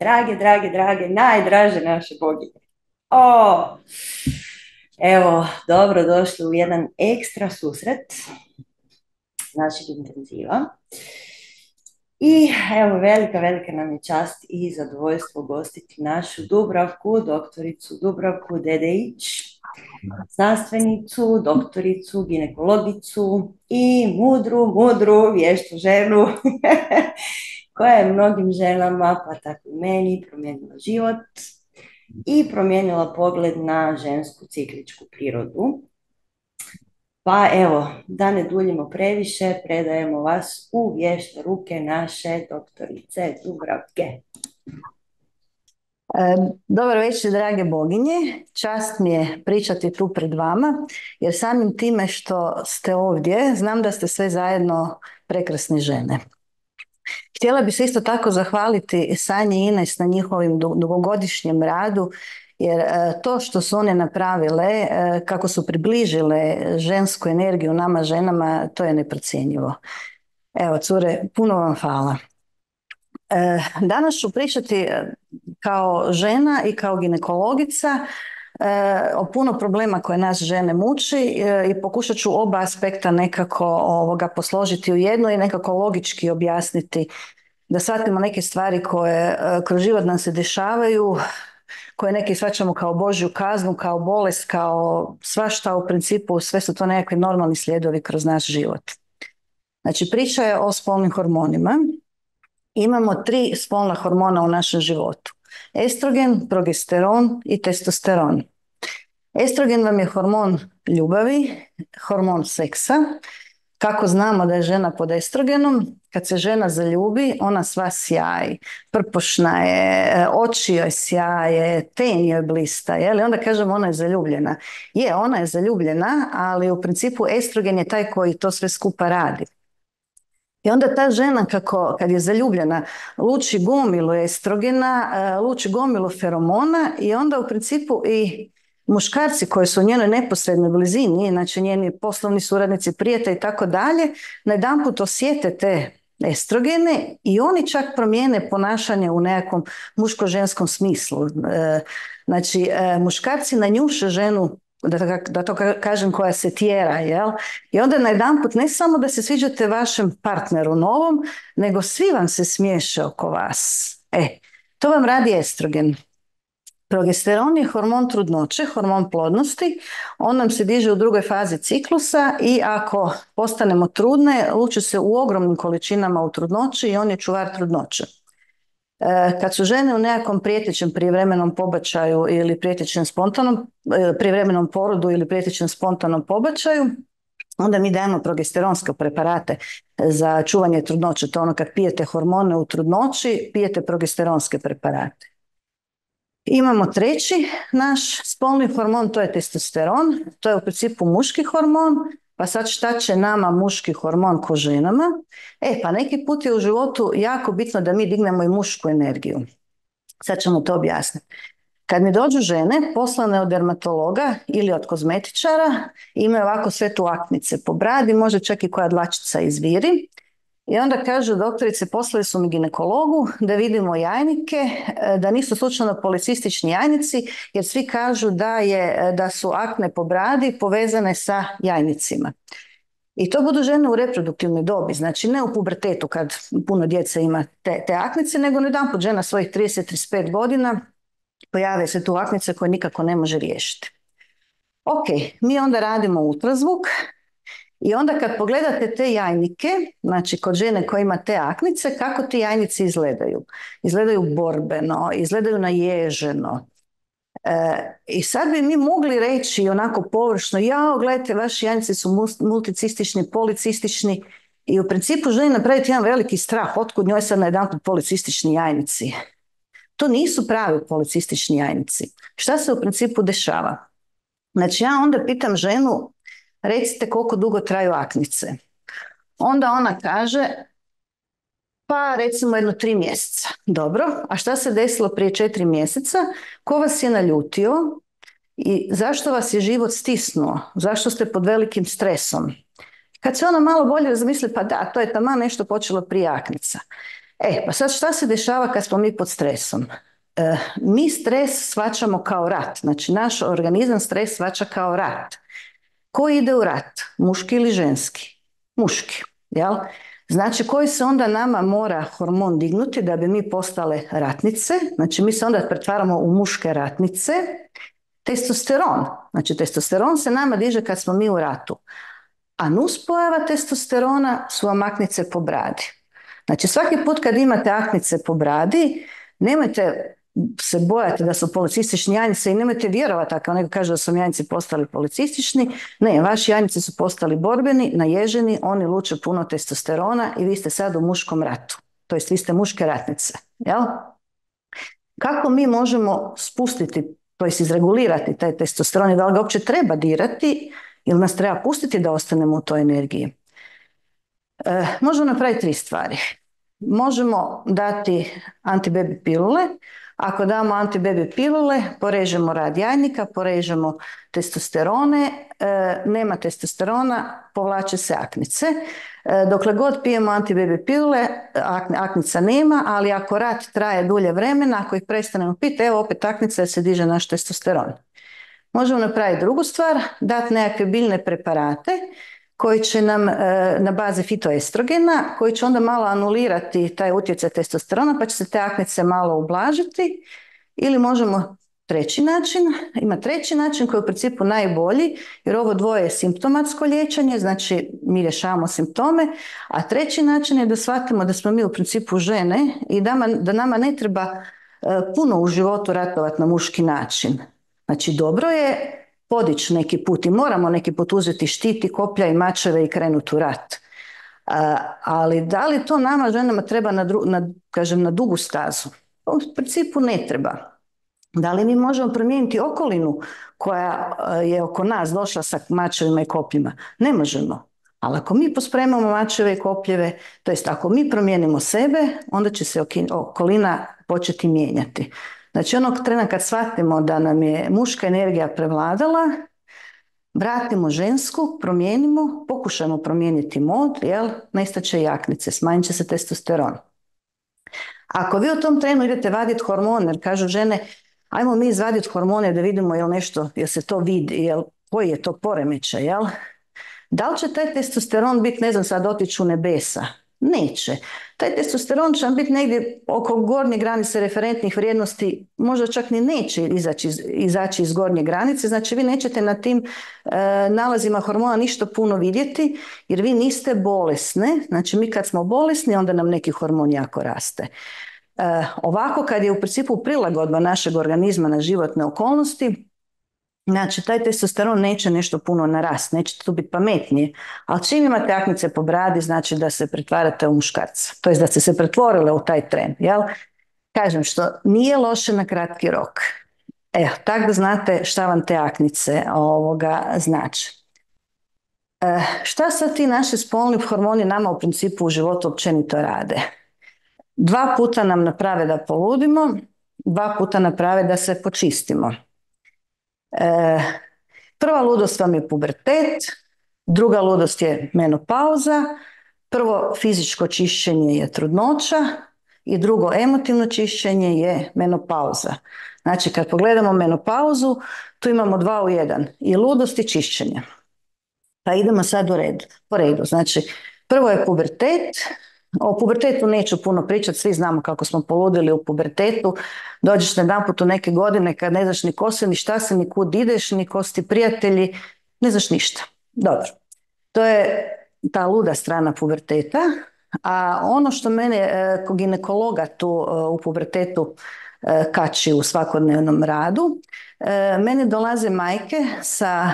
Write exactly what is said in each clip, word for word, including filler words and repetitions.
Drage, drage, drage, najdraže naše boginje. O, evo, dobro došli u jedan ekstra susret našeg intenziva. I evo, velika, velika nam je čast i zadovoljstvo gostiti našu Dubravku, doktoricu Dubravku Dedeić, znanstvenicu, doktoricu, ginekologicu i mudru, mudru, vještu ženu koja je mnogim ženama, pa tako i meni, promijenila život i promijenila pogled na žensku cikličku prirodu. Pa evo, da ne duljimo previše, predajemo vas u vješte ruke naše doktorice Dubravke. Dobar večer, drage boginje. Čast mi je pričati tu pred vama, jer samim time što ste ovdje, znam da ste sve zajedno prekrasne žene. Htjela bih se isto tako zahvaliti Sanji i Ines na njihovim dugogodišnjem radu, jer to što su one napravile, kako su približile žensku energiju nama ženama, to je neprocjenjivo. Evo, cure, puno vam hvala. Danas ću pričati kao žena i kao ginekologica o puno problema koje nas žene muči i pokušat ću oba aspekta nekako ovoga posložiti u jedno i nekako logički objasniti da shvatimo neke stvari koje kroz život nam se dešavaju, koje neki shvaćamo kao Božju kaznu, kao bolest, kao svašta, u principu sve su to nekakvi normalni slijedovi kroz naš život. Znači, priča je o spolnim hormonima. Imamo tri spolna hormona u našem životu. Estrogen, progesteron i testosteron. Estrogen vam je hormon ljubavi, hormon seksa. Kako znamo da je žena pod estrogenom? Kad se žena zaljubi, ona sva sjaji, prpošna je, oči joj sjaje, ten joj blista, je li? Onda kažemo ona je zaljubljena. Je, ona je zaljubljena, ali u principu estrogen je taj koji to sve skupa radi. I onda ta žena, kako, kad je zaljubljena, luči gomilu estrogena, luči gomilu feromona i onda u principu i muškarci koji su u njenoj neposrednoj blizini, znači njeni poslovni suradnici, prijatelji i tako dalje, najedanput osjete te estrogene i oni čak promijene ponašanje u nekakvom muško-ženskom smislu. Znači, muškarci nanjuše ženu, Da, da to kažem, koja se tjera, jel? I onda najedanput ne samo da se sviđate vašem partneru novom, nego svi vam se smiješe oko vas. E, to vam radi estrogen. Progesteron je hormon trudnoće, hormon plodnosti. On nam se diže u drugoj fazi ciklusa i ako postanemo trudne, luči se u ogromnim količinama u trudnoći i on je čuvar trudnoće. Kad su žene u nekakvom prijetećem prijevremenom pobačaju ili prijetećem spontanom, prijevremenom porodu ili prijetećem spontanom pobačaju, onda mi dajemo progesteronske preparate za čuvanje trudnoće. To ono kad pijete hormone u trudnoći, pijete progesteronske preparate. Imamo treći naš spolni hormon, to je testosteron. To je u principu muški hormon. Pa sad šta će nama muški hormon ko ženama? E, pa neki put je u životu jako bitno da mi dignemo i mušku energiju. Sad ćemo to objasniti. Kad mi dođu žene, poslane od dermatologa ili od kozmetičara, imaju ovako sve tu aknice po bradi, može čak i koja dlačica izviri. I onda kažu, doktorice, poslali su mi ginekologu da vidimo jajnike, da nisu slučajno policistični jajnici, jer svi kažu da, je, da su akne po bradi povezane sa jajnicima. I to budu žene u reproduktivnoj dobi, znači ne u pubertetu kad puno djece ima te, te aknice, nego jedanput žena svojih trideset do trideset pet godina pojave se tu aknice koje nikako ne može riješiti. Ok, mi onda radimo ultrazvuk. I onda kad pogledate te jajnike, znači kod žene koja ima te aknice, kako ti jajnici izgledaju? Izgledaju borbeno, izgledaju naježeno. E, I sad bi mi mogli reći onako površno, jao, gledajte, vaši jajnici su multicistični, policistični i u principu želi napraviti jedan veliki strah, otkud njoj sad najedanput policistični jajnici. To nisu pravi policistični jajnici. Šta se u principu dešava? Znači ja onda pitam ženu, recite koliko dugo traju aknice. Onda ona kaže, pa recimo jedno tri mjeseca. Dobro, a šta se desilo prije četiri mjeseca? Ko vas je naljutio i zašto vas je život stisnuo? Zašto ste pod velikim stresom? Kad se ona malo bolje razmisli, pa da, to je taman nešto počelo prije aknica. E, pa sad šta se dešava kad smo mi pod stresom? E, mi stres shvaćamo kao rat, znači naš organizam stres shvaća kao rat. Ko ide u rat? Muški ili ženski? Muški, jel? Znači koji se onda nama mora hormon dignuti da bi mi postale ratnice, znači mi se onda pretvaramo u muške ratnice, testosteron, znači testosteron se nama diže kad smo mi u ratu, a nuspojava testosterona su vam aknice po bradi. Znači svaki put kad imate aknice po bradi, nemojte se bojati da su policistični jajnice i nemojte vjerovati ako neko kaže da su jajnici postali policistični. Ne, vaši jajnici su postali borbeni, naježeni, oni luče puno testosterona i vi ste sad u muškom ratu. To jest vi ste muške ratnice. Jel? Kako mi možemo spustiti, to jest izregulirati taj testosteron i da li ga uopće treba dirati ili nas treba pustiti da ostanemo u toj energiji? E, možemo napraviti tri stvari. Možemo dati antibaby pilule. Ako damo antibaby pilule, porežemo rad jajnika, porežemo testosterone, e, nema testosterona, povlače se aknice. E, dokle god pijemo antibaby pilule, ak, aknica nema, ali ako rat traje dulje vremena, ako ih prestanemo piti, evo opet aknica jer se diže naš testosteron. Možemo napraviti drugu stvar, dati nekakve biljne preparate koji će nam e, na bazi fitoestrogena, koji će onda malo anulirati taj utjecaj testosterona, pa će se te aknice malo ublažiti. Ili možemo treći način, ima treći način koji je u principu najbolji, jer ovo dvoje je simptomatsko liječenje, znači mi rješavamo simptome, a treći način je da shvatimo da smo mi u principu žene i da, man, da nama ne treba e, puno u životu ratovati na muški način. Znači dobro je podići neki put i moramo neki put uzeti štiti, koplja i mačeve i krenuti u rat. A, ali da li to nama ženama treba na, dru, na, kažem, na dugu stazu? U principu ne treba. Da li mi možemo promijeniti okolinu koja je oko nas došla sa mačevima i kopljima? Ne možemo. Ali ako mi pospremamo mačeve i kopljeve, to jest ako mi promijenimo sebe, onda će se okolina početi mijenjati. Znači onog trena kad shvatimo da nam je muška energija prevladala, vratimo žensku, promijenimo, pokušajmo promijeniti mod, jel, nestaće jaknice, smanjit će se testosteron. Ako vi u tom trenu idete vaditi hormone, jer kažu žene, ajmo mi izvaditi hormone da vidimo jel nešto, jel se to vidi, jel, koji je to poremećaj, jel? Da li će taj testosteron biti, ne znam, sad otići u nebesa? Neće. Taj testosteron će biti negdje oko gornje granice referentnih vrijednosti, možda čak ni neće izaći, izaći iz gornje granice, znači vi nećete na tim e, nalazima hormona ništa puno vidjeti, jer vi niste bolesne, znači mi kad smo bolesni, onda nam neki hormon jako raste. E, ovako kad je u principu prilagodba našeg organizma na životne okolnosti, znači taj testosteron neće nešto puno narasti, nećete tu biti pametnije, ali čim imate aknice po bradi, znači da se pretvarate u muškarca, to je da ste se pretvorile u taj tren, jel? Kažem što nije loše na kratki rok. Evo, tako da znate šta vam te aknice ovoga znači. E, šta sad ti naši spolni hormoni nama u principu u životu općenito rade? Dva puta nam naprave da poludimo, dva puta naprave da se počistimo. E, prva ludost vam je pubertet, druga ludost je menopauza, prvo fizičko čišćenje je trudnoća i drugo emotivno čišćenje je menopauza. Znači kad pogledamo menopauzu, tu imamo dva u jedan, i ludost i čišćenje. Pa idemo sad u redu, po redu. Znači prvo je pubertet. O pubertetu neću puno pričati, svi znamo kako smo poludili u pubertetu. Dođeš jedanput u neke godine kad ne znaš ni ko si, ni šta si, ni kud ideš, ni ko si ti prijatelji, ne znaš ništa. Dobro, to je ta luda strana puberteta. A ono što mene ko ginekologa tu u pubertetu kači u svakodnevnom radu, meni dolaze majke sa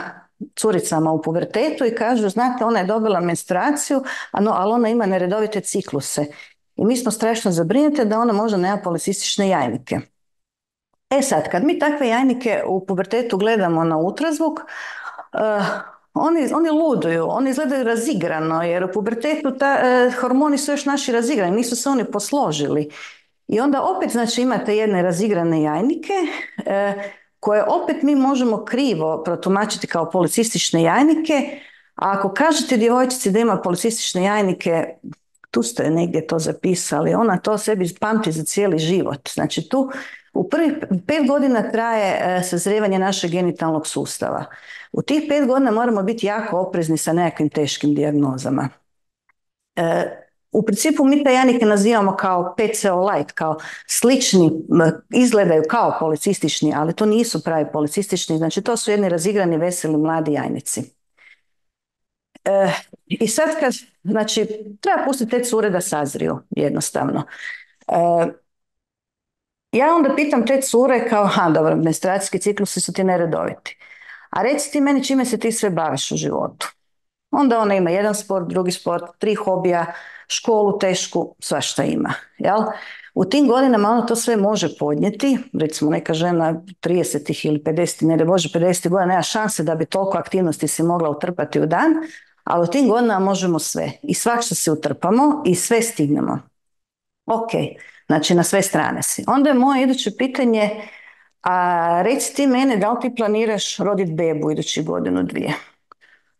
curicama u pubertetu i kažu, znate, ona je dobila menstruaciju, ali ona ima neredovite cikluse. I mi smo strašno zabrinute da ona možda nema policistične jajnike. E sad, kad mi takve jajnike u pubertetu gledamo na ultrazvuk, uh, oni, oni luduju, oni izgledaju razigrano, jer u pubertetu ta, uh, hormoni su još naši razigrani, nisu se oni posložili. I onda opet, znači, imate jedne razigrane jajnike, uh, koje opet mi možemo krivo protumačiti kao policistične jajnike, a ako kažete djevojčici da ima policistične jajnike, tu ste negdje to zapisali, ona to sebi pamti za cijeli život. Znači tu u prvih pet godina traje e, sazrijevanje našeg genitalnog sustava. U tih pet godina moramo biti jako oprezni sa nekakvim teškim dijagnozama. E, u principu mi te janike nazivamo kao P C O light, kao slični, izgledaju kao policistični, ali to nisu pravi policistični, znači to su jedni razigrani, veseli, mladi jajnici. E, I sad kad, znači, treba pustiti te cure da sazriju, jednostavno. E, ja onda pitam te cure kao, ha, dobro, menstruacijski ciklusi su ti neredoviti. A reci ti meni čime se ti sve baviš u životu. Onda ona ima jedan sport, drugi sport, tri hobija, školu tešku, svašta ima. Jel? U tim godinama ona to sve može podnijeti, recimo neka žena trideset ili pedeset, ne da Bože pedeset godina, nema šanse da bi toliko aktivnosti si mogla utrpati u dan, ali u tim godinama možemo sve. I svašta se utrpamo i sve stignemo. Ok, znači na sve strane si. Onda je moje iduće pitanje, a reci ti mene da li ti planiraš roditi bebu idući godinu, dvije?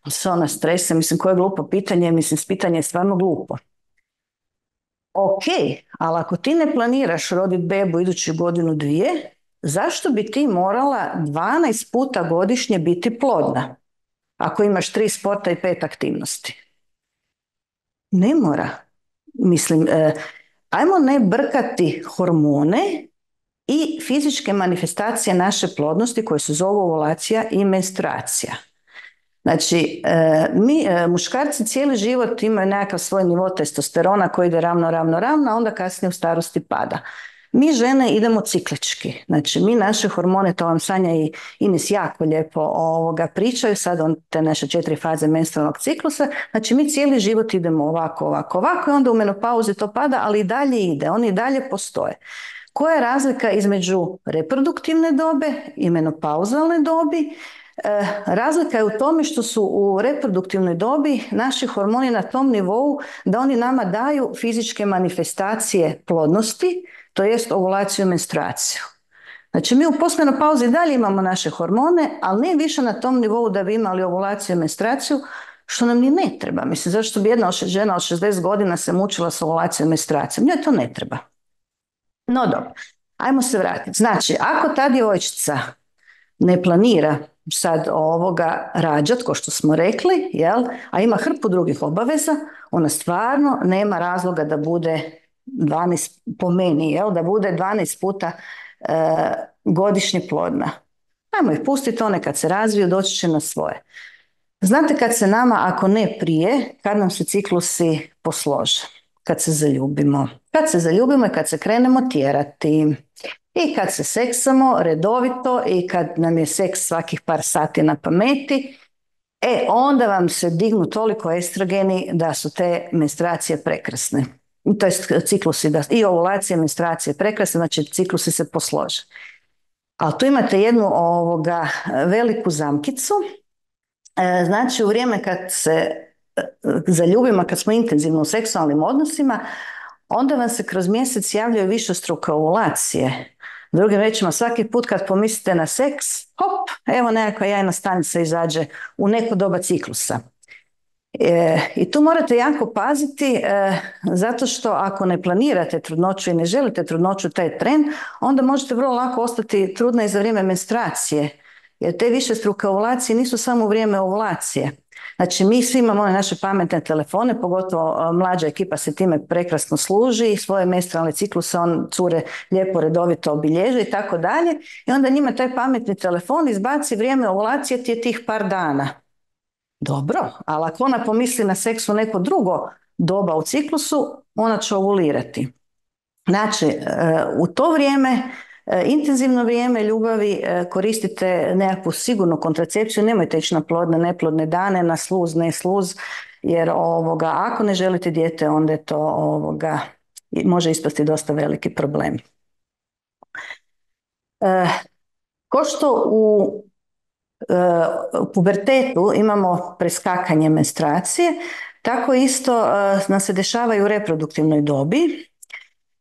Se ona stresa, mislim koje je glupo pitanje, mislim pitanje je stvarno glupo. Ok, ali ako ti ne planiraš roditi bebu idući godinu, dvije, zašto bi ti morala dvanaest puta godišnje biti plodna? Ako imaš tri sporta i pet aktivnosti. Ne mora. Mislim, eh, ajmo ne brkati hormone i fizičke manifestacije naše plodnosti koje se zovu ovulacija i menstruacija. Znači, e, mi e, muškarci cijeli život imaju nekakav svoj nivo testosterona koji ide ravno, ravno, ravno, a onda kasnije u starosti pada. Mi žene idemo ciklički, znači mi naše hormone, to vam Sanja i Ines jako lijepo ovoga pričaju, sad on te naše četiri faze menstrualnog ciklusa, znači mi cijeli život idemo ovako, ovako, ovako i onda u menopauzi to pada, ali i dalje ide, oni i dalje postoje. Koja je razlika između reproduktivne dobe i menopauzalne dobi? E, razlika je u tome što su u reproduktivnoj dobi naši hormoni na tom nivou da oni nama daju fizičke manifestacije plodnosti, to jest ovulaciju i menstruaciju. Znači mi u postmenopauzi dalje imamo naše hormone, ali ne više na tom nivou da bi imali ovulaciju i menstruaciju, što nam ni ne treba. Mislim, zašto bi jedna žena od šezdeset godina se mučila s ovulacijom i menstruacijom? Njoj to ne treba. No dobro, ajmo se vratiti. Znači, ako ta djevojčica ne planira sad ovoga rađat, ko što smo rekli, jel, a ima hrpu drugih obaveza, ona stvarno nema razloga da bude dvanaest, po meni, jel, da bude dvanaest puta e, godišnje plodna. Ajmo ih pustiti, one kad se razviju, doći će na svoje. Znate kad se nama, ako ne prije, kad nam se ciklusi poslože, kad se zaljubimo. Kad se zaljubimo i kad se krenemo tjerati. I kad se seksamo redovito i kad nam je seks svakih par sati na pameti, e onda vam se dignu toliko estrogeni da su te menstruacije prekrasne. To je ciklusi, da, i ovulacije, menstruacije prekrasne, znači ciklusi se poslože. Ali tu imate jednu ovoga veliku zamkicu, e, znači u vrijeme kad se zaljubimo, kad smo intenzivno u seksualnim odnosima, onda vam se kroz mjesec javljaju višestruke ovulacije. Drugim rečima, svaki put kad pomislite na seks, hop, evo nekakva jajna stanica izađe u neko doba ciklusa. E, I tu morate jako paziti, e, zato što ako ne planirate trudnoću i ne želite trudnoću, taj tren, onda možete vrlo lako ostati trudna i za vrijeme menstruacije. Jer te višestruke ovulacije nisu samo u vrijeme ovulacije. Znači mi svi imamo naše pametne telefone, pogotovo mlađa ekipa se time prekrasno služi, svoje menstrualne cikluse on cure lijepo redovito obilježe i tako dalje. I onda njima taj pametni telefon izbaci vrijeme ovulacije ti je tih par dana. Dobro, ali ako ona pomisli na seks u neko drugo doba u ciklusu, ona će ovulirati. Znači, u to vrijeme, intenzivno vrijeme ljubavi, koristite nekakvu sigurnu kontracepciju, nemojte ići na plodne, neplodne dane, na sluz, ne sluz, jer ovoga, ako ne želite dijete, onda je to ovoga, može ispasti dosta veliki problem. E, ko što u, e, u pubertetu imamo preskakanje menstruacije, tako isto e, nam se dešava i u reproduktivnoj dobi.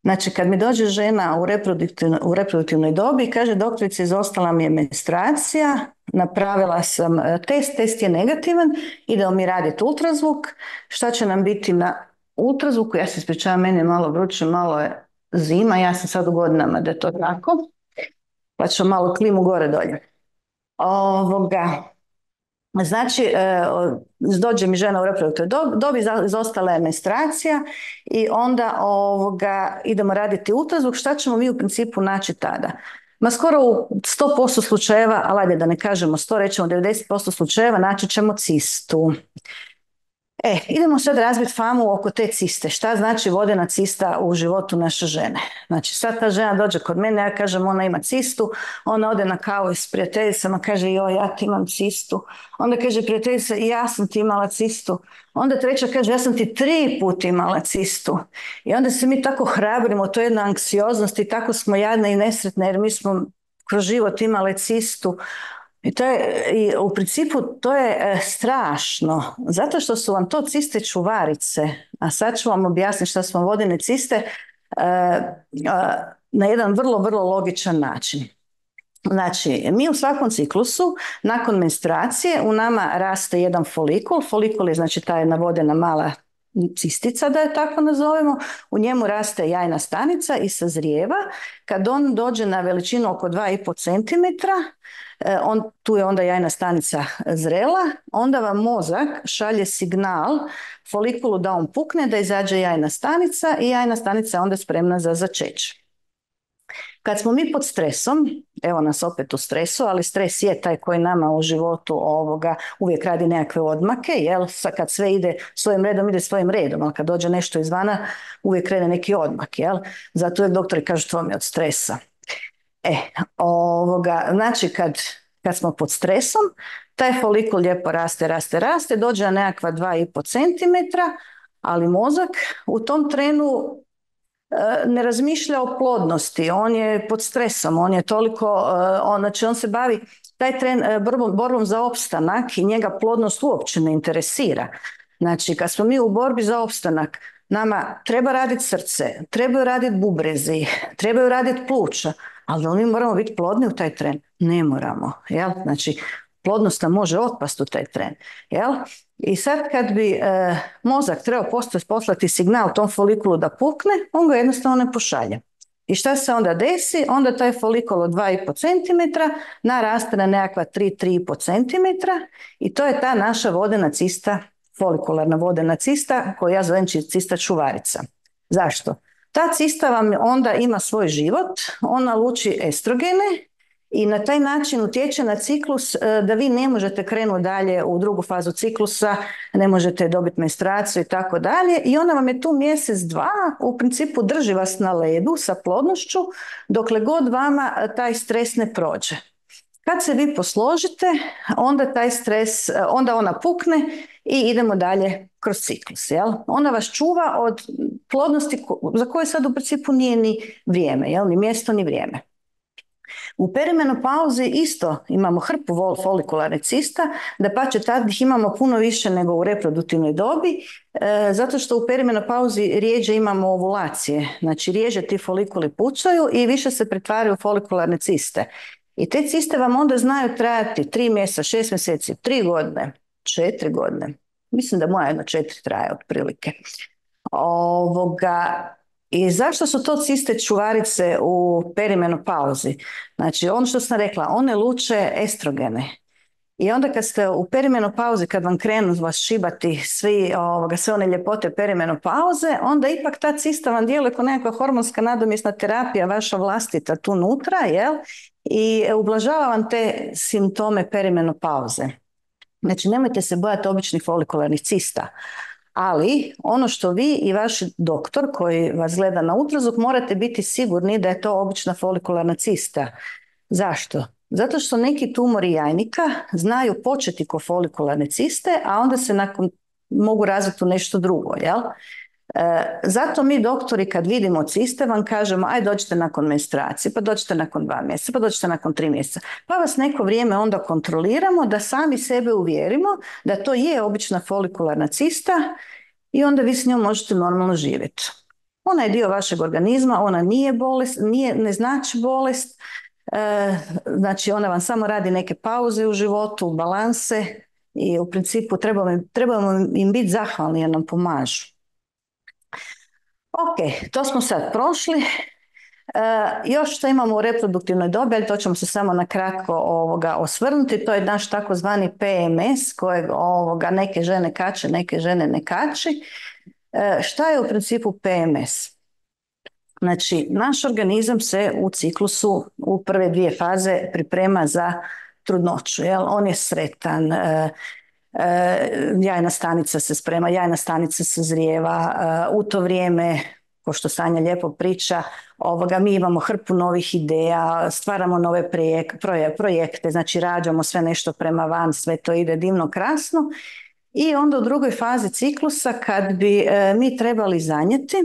Znači, kad mi dođe žena u reproduktivnoj, u reproduktivnoj dobi i kaže doktorice, izostala mi je menstruacija, napravila sam test, test je negativan, idemo mi raditi ultrazvuk, šta će nam biti na ultrazvuku, ja se ispričavam, meni je malo vruće, malo je zima, ja sam sad u godinama da je to tako, pa ću malo klimu gore dolje. Ovoga, znači, e, dođe mi žena u reproduktivnoj dobi, izostala je menstruacija i onda ovoga, idemo raditi ultrazvuk. Šta ćemo mi u principu naći tada? Ma skoro u sto posto slučajeva, ali ajde da ne kažemo sto, rećemo devedeset posto slučajeva, naći ćemo cistu. E, idemo sad razbiti famu oko te ciste. Šta znači vodena cista u životu naše žene? Znači, sad ta žena dođe kod mene, ja kažem ona ima cistu, ona ode na kavu s prijateljicama, kaže joj, ja ti imam cistu. Onda kaže prijateljica, ja sam ti imala cistu. Onda treća kaže, ja sam ti tri puta imala cistu. I onda se mi tako hrabrimo, to je jedna anksioznost i tako smo jadne i nesretne jer mi smo kroz život imale cistu. I, to je, i u principu to je e, strašno, zato što su vam to ciste čuvarice, a sad ću vam objasniti šta su vam vodene ciste e, e, na jedan vrlo, vrlo logičan način. Znači, mi u svakom ciklusu, nakon menstruacije, u nama raste jedan folikul, folikul je znači ta jedna vodena mala cistica, da je tako nazovemo, u njemu raste jajna stanica i sazrijeva. Kad on dođe na veličinu oko dva i pol centimetra, on, tu je onda jajna stanica zrela, onda vam mozak šalje signal folikulu da on pukne, da izađe jajna stanica i jajna stanica je onda spremna za začeće. Kad smo mi pod stresom, evo nas opet u stresu, ali stres je taj koji nama u životu ovoga uvijek radi nekakve odmake, jel? Kad sve ide svojim redom, ide svojim redom, ali kad dođe nešto izvana, uvijek krene neki odmak, jel? Zato uvijek doktori kažu to mi je od stresa. E, ovoga, znači kad, kad smo pod stresom, taj folikul lijepo raste, raste, raste, dođe na nekakva dva i pol centimetra, ali mozak u tom trenu ne razmišlja o plodnosti, on je pod stresom, on je toliko, on, znači on se bavi taj tren borbom, borbom za opstanak i njega plodnost uopće ne interesira. Znači kad smo mi u borbi za opstanak, nama treba raditi srce, trebaju raditi bubrezi, trebaju raditi pluća, ali da li mi moramo biti plodni u taj tren? Ne moramo, jel? Znači plodnost nam može otpasti u taj tren, jel? I sad kad bi e, mozak trebao poslati signal tom folikulu da pukne, on ga jednostavno ne pošalje. I šta se onda desi? Onda taj folikul od dva i pol centimetra naraste na nekakva tri do tri i pol centimetra i to je ta naša vodena cista, folikularna vodena cista koju ja zovem cista čuvarica. Zašto? Ta cista vam onda ima svoj život, ona luči estrogene i na taj način utječe na ciklus da vi ne možete krenuti dalje u drugu fazu ciklusa, ne možete dobiti menstruaciju i tako dalje i ona vam je tu mjesec, dva, u principu drži vas na ledu sa plodnošću dokle god vama taj stres ne prođe. Kad se vi posložite, onda taj stres, onda ona pukne i idemo dalje kroz ciklus. Jel? Ona vas čuva od plodnosti za koje sad u principu nije ni vrijeme, jel? Ni mjesto ni vrijeme. U perimenopauzi isto imamo hrpu folikularnih cista, da pače tad ih imamo puno više nego u reproduktivnoj dobi, e, zato što u perimenopauzi rijeđe imamo ovulacije, znači rijeđe ti folikuli pucaju i više se pretvaraju u folikularne ciste. I te ciste vam onda znaju trajati tri mjeseca, šest mjeseci, tri godine, četiri godine. Mislim da moja jedno četiri traje otprilike. Ovoga... I zašto su to ciste čuvarice u perimenopauzi? Znači, ono što sam rekla, one luče estrogene. I onda kad ste u perimenopauzi, kad vam krenu vas šibati svi, ovoga, sve one ljepote perimenopauze, onda ipak ta cista vam djeluje kao nekakva hormonska nadomjesna terapija, vaša vlastita tu nutra, jel? I ublažava vam te simptome perimenopauze. Znači, nemojte se bojati običnih folikularnih cista. Ali ono što vi i vaš doktor koji vas gleda na ultrazvuk morate biti sigurni da je to obična folikularna cista. Zašto? Zato što neki tumori jajnika znaju početi ko folikularne ciste, a onda se nakon mogu razviti u nešto drugo, jel? E, zato mi doktori kad vidimo ciste vam kažemo aj dođite nakon menstruacije, pa dođite nakon dva mjeseca, pa dođite nakon tri mjeseca. Pa vas neko vrijeme onda kontroliramo da sami sebe uvjerimo da to je obična folikularna cista i onda vi s njom možete normalno živjeti. Ona je dio vašeg organizma, ona nije bolest, nije, ne znači bolest, e, znači ona vam samo radi neke pauze u životu, balanse i u principu trebamo, trebamo im biti zahvalni jer nam pomažu. Ok, to smo sad prošli. E, još što imamo u reproduktivnoj dobi, ali to ćemo se samo na kratko ovoga osvrnuti, to je naš takozvani P M S kojeg ovoga neke žene kače, neke žene ne kači. E, šta je u principu P M S? Znači, naš organizam se u ciklusu u prve dvije faze priprema za trudnoću, jel? On je sretan, e, e, jajna stanica se sprema, jajna stanica se zrijeva, e, u to vrijeme, ko što Sanja lijepo priča, ovoga, mi imamo hrpu novih ideja, stvaramo nove projek, proje, projekte, znači rađamo sve nešto prema van, sve to ide divno, krasno. I onda u drugoj fazi ciklusa kad bi e, mi trebali zanijeti,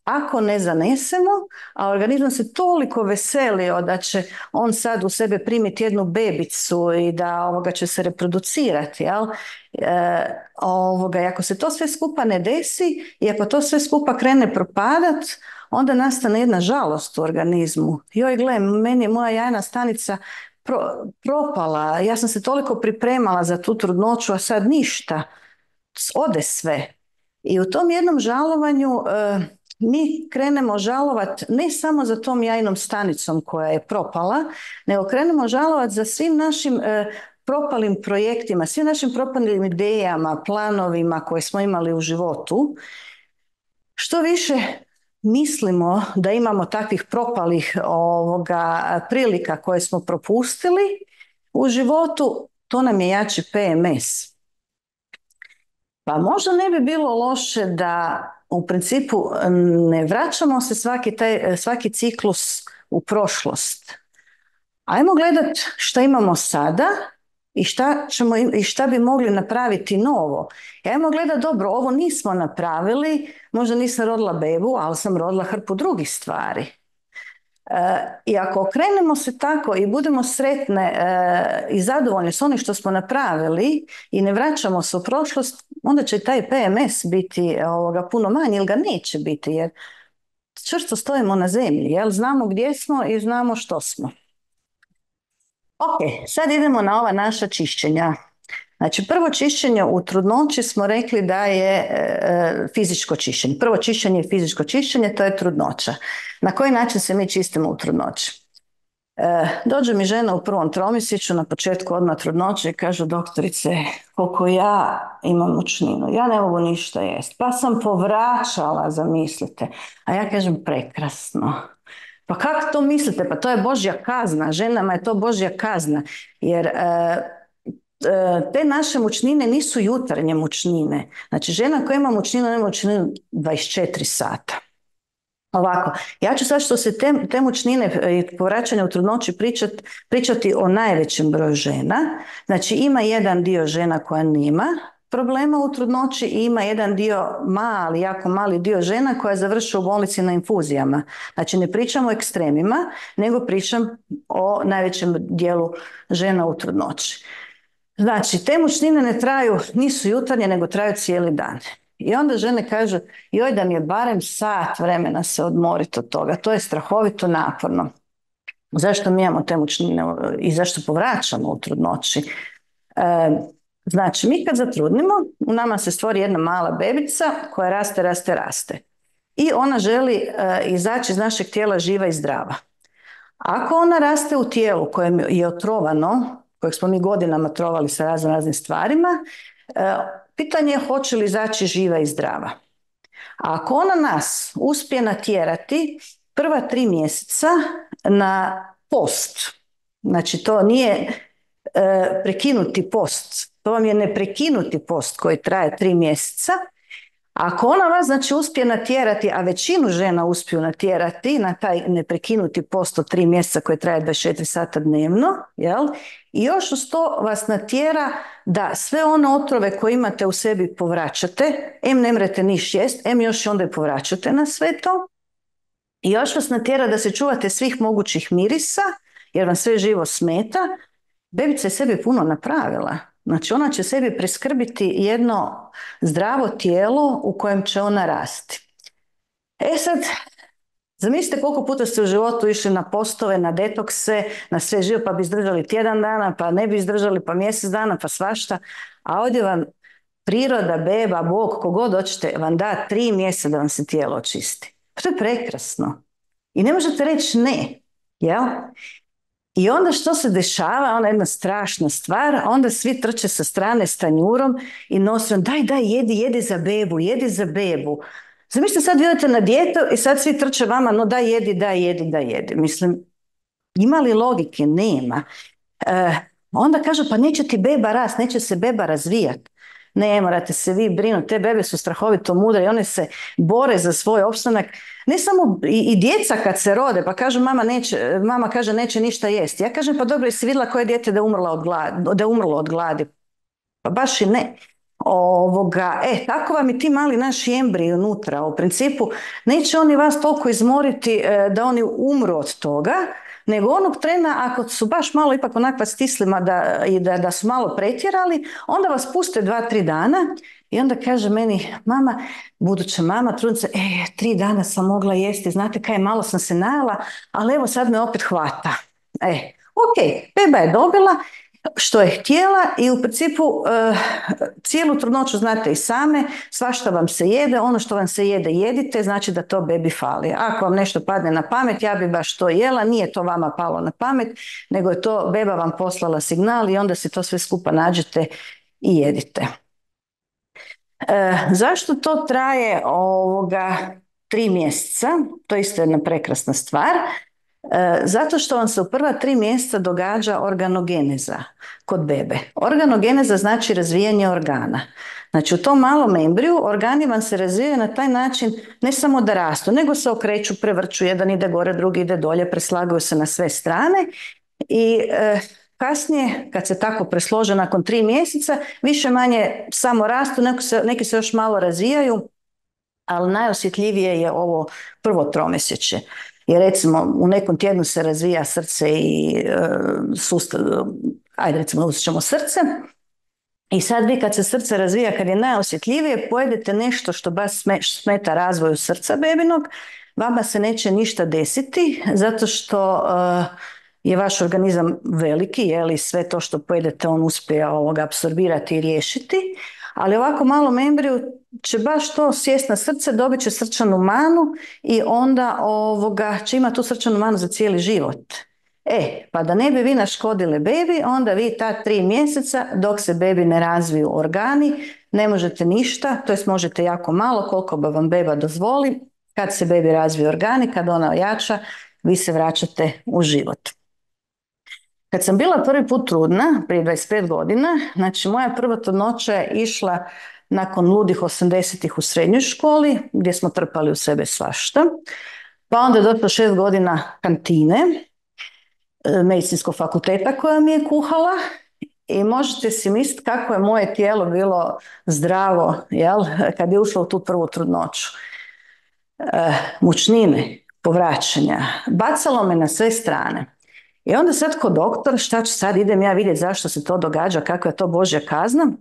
ako ne zanesemo, a organizam se toliko veselio da će on sad u sebe primiti jednu bebicu i da ovoga će se reproducirati, jel? E, ovoga, i ako se to sve skupa ne desi i ako to sve skupa krene propadat, onda nastane jedna žalost u organizmu. Joj, gle, meni je moja jajna stanica pro, propala, ja sam se toliko pripremala za tu trudnoću, a sad ništa, ode sve. I u tom jednom žalovanju e, mi krenemo žalovat ne samo za tom jajnom stanicom koja je propala, nego krenemo žalovat za svim našim e, propalim projektima, svim našim propalim idejama, planovima koje smo imali u životu. Što više mislimo da imamo takvih propalih ovoga, prilika koje smo propustili u životu, to nam je jači P M S. Pa možda ne bi bilo loše da u principu ne vraćamo se svaki, taj, svaki ciklus u prošlost. Ajmo gledat šta imamo sada i šta, ćemo, i šta bi mogli napraviti novo. I ajmo gledat, dobro, ovo nismo napravili, možda nisam rodila bebu, ali sam rodila hrpu drugih stvari. E, I ako okrenemo se tako i budemo sretne e, i zadovoljni s onim što smo napravili i ne vraćamo se u prošlost, onda će taj P M S biti ovoga, puno manji ili ga neće biti, jer čvrsto stojimo na zemlji, jel? Znamo gdje smo i znamo što smo. Ok, sad idemo na ova naša čišćenja. Znači, prvo čišćenje u trudnoći smo rekli da je e, fizičko čišćenje. Prvo čišćenje je fizičko čišćenje, to je trudnoća. Na koji način se mi čistimo u trudnoći? E, dođe mi žena u prvom tromjesečju na početku odmah trudnoće i kaže, doktorice, koliko ja imam mučninu, ja ne mogu ništa jest. Pa sam povraćala, zamislite. A ja kažem, prekrasno. Pa kako to mislite? Pa to je Božja kazna. Ženama je to Božja kazna. Jer e, te naše mučnine nisu jutarnje mučnine. Znači, žena koja ima mučninu, nema mučninu dvadeset četiri sata. Ovako, ja ću sad što se te, te mučnine i povraćanja u trudnoći pričat, pričati o najvećem broju žena. Znači, ima jedan dio žena koja nema problema u trudnoći i ima jedan dio, mali, jako mali dio žena koja završi u bolnici na infuzijama. Znači, ne pričam o ekstremima, nego pričam o najvećem dijelu žena u trudnoći. Znači, te mučnine ne traju, nisu jutarnje, nego traju cijeli dan. I onda žene kažu, joj da mi je barem sat vremena se odmoriti od toga, to je strahovito naporno. Zašto mi imamo te mučnine i zašto povraćamo u trudnoći? E, znači, mi kad zatrudnimo, u nama se stvori jedna mala bebica koja raste, raste, raste. I ona želi e, izaći iz našeg tijela živa i zdrava. Ako ona raste u tijelu kojem je otrovano, kojeg smo mi godinama trovali sa raznim raznim stvarima, e, pitanje je hoće li izaći živa i zdrava. A ako ona nas uspije natjerati prva tri mjeseca na post, znači to nije e, prekinuti post, to vam je neprekinuti post koji traje tri mjeseca, ako ona vas znači uspije natjerati, a većinu žena uspiju natjerati na taj neprekinuti post od tri mjeseca koji traje dvadeset četiri sata dnevno, jel? I još uz to vas natjera da sve one otrove koje imate u sebi povraćate, em ne mrete niš jest, em još onda i povraćate na sve to. I još vas natjera da se čuvate svih mogućih mirisa, jer vam sve živo smeta. Bebica je sebi puno napravila. Znači ona će sebi priskrbiti jedno zdravo tijelo u kojem će ona rasti. E sad, zamislite koliko puta ste u životu išli na postove, na detokse, na sve živo, pa bi izdržali tjedan dana, pa ne bi izdržali, pa mjesec dana, pa svašta. A ovdje vam priroda, beba, Bog, kogod hoćete, vam da tri mjeseca da vam se tijelo očisti. To je prekrasno. I ne možete reći ne, jel? I onda što se dešava, ona jedna strašna stvar, onda svi trče sa strane s tanjurom i nose, daj, daj, jedi, jedi za bebu, jedi za bebu. Zamislite, sad vi odete na dijetu i sad svi trče vama, no daj, jedi, daj, jedi, daj, jedi. Mislim, ima li logike? Nema. E, onda kažu, pa neće ti beba rast, neće se beba razvijati. Ne morate se vi brinuti, te bebe su strahovito mudre i one se bore za svoj opstanak. Ne samo i, i djeca kad se rode, pa kažu mama, neće, mama kaže neće ništa jesti. Ja kažem, pa dobro, jesi vidjela koje dijete da je umrlo od gladi, da je umrlo od gladi? Pa baš i ne. Ovoga, e, tako vam i ti mali naši embriji unutra. U principu neće oni vas toliko izmoriti e, da oni umru od toga, nego onog trena ako su baš malo ipak onakva stislima da, i da, da su malo pretjerali, onda vas puste dva, tri dana i onda kaže meni mama, buduća mama, trudnica, e, tri dana sam mogla jesti, znate kaj, malo sam se najela, ali evo sad me opet hvata. E, ok, beba je dobila što je htjela i u principu uh, cijelu trudnoću znate i same, svašta vam se jede, ono što vam se jede jedite, znači da to bebi fali. Ako vam nešto padne na pamet, ja bi baš to jela, nije to vama palo na pamet, nego je to beba vam poslala signal i onda si to sve skupa nađete i jedite. E, zašto to traje ovoga tri mjeseca? To je isto jedna prekrasna stvar. E, zato što vam se u prva tri mjeseca događa organogeneza kod bebe. Organogeneza znači razvijanje organa. Znači u tom malom embriju organi vam se razvijaju na taj način ne samo da rastu, nego se okreću, prevrću, jedan ide gore, drugi ide dolje, preslagaju se na sve strane i e, kasnije kad se tako preslože nakon tri mjeseca više manje samo rastu, neki se, neki se još malo razvijaju, ali najosjetljivije je ovo prvo tromjesečje. Jer recimo u nekom tjednu se razvija srce i e, sustav, ajde recimo uzet ćemo srce i sad vi kad se srce razvija, kad je najosjetljivije, pojedete nešto što baš smeta razvoju srca bebinog, vama se neće ništa desiti zato što e, je vaš organizam veliki, je li sve to što pojedete on uspije ovoga apsorbirati i riješiti, ali ovako malom embriju će baš to sjest na srce, dobit će srčanu manu i onda ovoga, će imati tu srčanu manu za cijeli život. E, pa da ne bi vi naškodili bebi, onda vi ta tri mjeseca dok se bebi ne razviju organi, ne možete ništa, to jest možete jako malo, koliko ba vam beba dozvoli. Kad se bebi razviju organi, kad ona ojača, vi se vraćate u život. Kad sam bila prvi put trudna, prije dvadeset pet godina, znači moja prva trudnoća je išla nakon ludih osamdesetih u srednjoj školi, gdje smo trpali u sebe svašta. Pa onda je došlo šest godina kantine, medicinskog fakulteta koja mi je kuhala i možete si misliti kako je moje tijelo bilo zdravo, jel, kad je ušlo u tu prvu trudnoću. E, mučnine, povraćanja, bacalo me na sve strane. I onda sad kod doktora, šta ću sad, idem ja vidjeti zašto se to događa, kakva je to Božja kazna.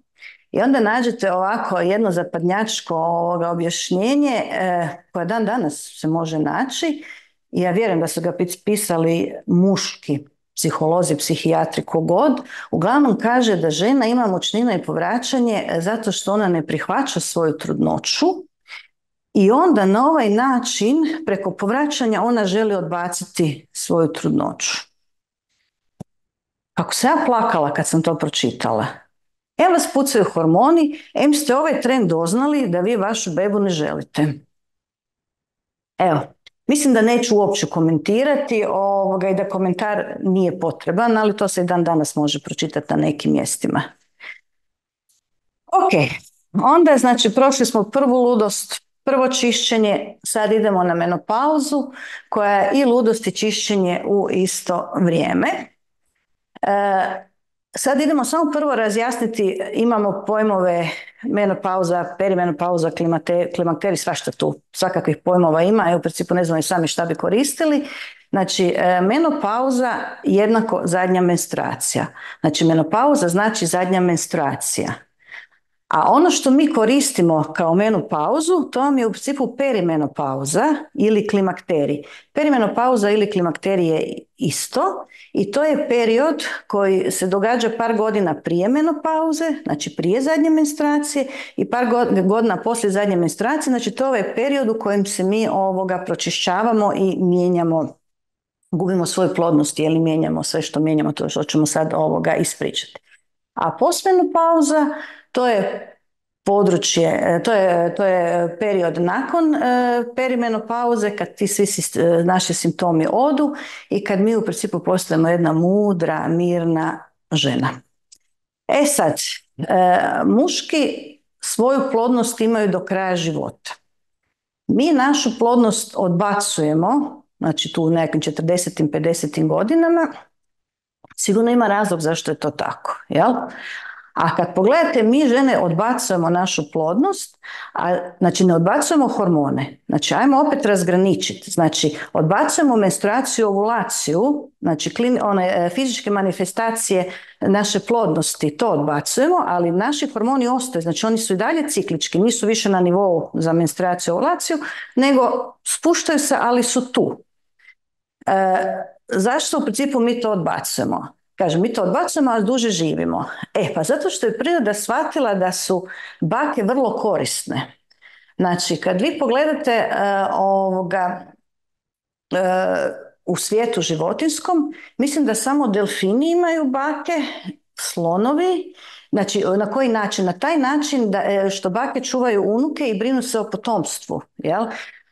I onda nađete ovako jedno zapadnjačko ovoga objašnjenje e, koje dan danas se može naći. I ja vjerujem da su ga pisali muški psiholozi, psihijatri, kogod. Uglavnom kaže da žena ima mučnina i povraćanje zato što ona ne prihvaća svoju trudnoću. I onda na ovaj način, preko povraćanja, ona želi odbaciti svoju trudnoću. Kako sam ja plakala kad sam to pročitala. Em vas pucaju hormoni, em ste ovaj tren doznali da vi vašu bebu ne želite. Evo, mislim da neću uopće komentirati ovoga i da komentar nije potreban, ali to se i dan danas može pročitati na nekim mjestima. Ok, onda znači prošli smo prvu ludost, prvo čišćenje, sad idemo na menopauzu koja je i ludost i čišćenje u isto vrijeme. E, sad idemo samo prvo razjasniti, imamo pojmove menopauza, perimenopauza, klimakterij, svašta tu, svakakvih pojmova ima, a u principu ne znamo i sami šta bi koristili. Znači, e, menopauza jednako zadnja menstruacija. Znači, menopauza znači zadnja menstruacija. A ono što mi koristimo kao menopauzu, to vam je u principu perimenopauza ili klimakterij. Perimenopauza ili klimakterij je isto i to je period koji se događa par godina prije menopauze, znači prije zadnje menstruacije, i par godina poslije zadnje menstruacije, znači to je ovaj period u kojem se mi ovoga pročišćavamo i mijenjamo, gubimo svoju plodnost ili mijenjamo sve što mijenjamo, to što ćemo sad ovoga ispričati. A postmenopauza, to je područje, to je, to je period nakon e, perimenopauze, kad ti svi naši simptomi odu i kad mi u principu postajemo jedna mudra, mirna žena. E sad, e, muški svoju plodnost imaju do kraja života. Mi našu plodnost odbacujemo, znači tu u nekim četrdesetim, pedesetim godinama, sigurno ima razlog zašto je to tako, jel? A kad pogledate, mi žene odbacujemo našu plodnost, a znači ne odbacujemo hormone. Znači ajmo opet razgraničiti. Znači odbacujemo menstruaciju, ovulaciju, znači klin, one fizičke manifestacije naše plodnosti, to odbacujemo, ali naši hormoni ostaju, znači oni su i dalje ciklički, nisu više na nivou za menstruaciju, ovulaciju, nego spuštaju se, ali su tu. E, zašto u principu mi to odbacujemo? Kažem, mi to odbacujemo, ali duže živimo. E, pa zato što je priroda shvatila da su bake vrlo korisne. Znači, kad vi pogledate uh, ovoga, uh, u svijetu životinskom, mislim da samo delfini imaju bake, slonovi. Znači, na koji način? Na taj način da, što bake čuvaju unuke i brinu se o potomstvu. Jel?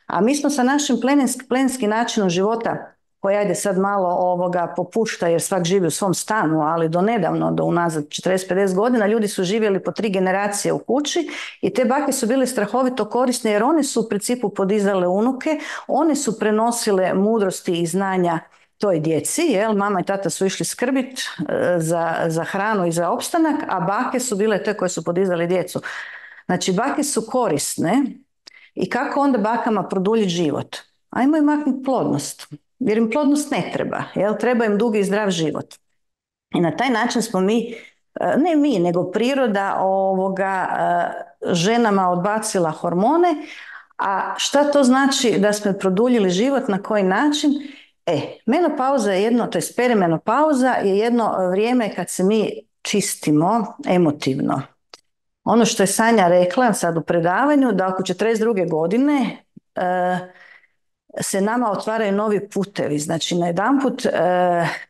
A mi smo sa našim plemenski, plemenskim načinom života, koji ajde sad malo ovoga popušta jer svak živi u svom stanu, ali do nedavno, do unazad četrdeset do pedeset godina, ljudi su živjeli po tri generacije u kući i te bake su bile strahovito korisne jer one su u principu podizale unuke, one su prenosile mudrosti i znanja toj djeci, jel? Mama i tata su išli skrbit e, za, za hranu i za opstanak, a bake su bile te koje su podizale djecu. Znači bake su korisne i kako onda bakama produljiti život? Ajmo im maknuti plodnost. Jer im plodnost ne treba, jel? Treba im dugi i zdrav život. I na taj način smo mi, ne mi, nego priroda ovoga ženama odbacila hormone, a šta to znači da smo produljili život, na koji način? E, menopauza je jedno, to je perimenopauza je jedno vrijeme kad se mi čistimo emotivno. Ono što je Sanja rekla sad u predavanju, da oko četrdeset druge godine uh, se nama otvaraju novi putevi. Znači, najedanput e,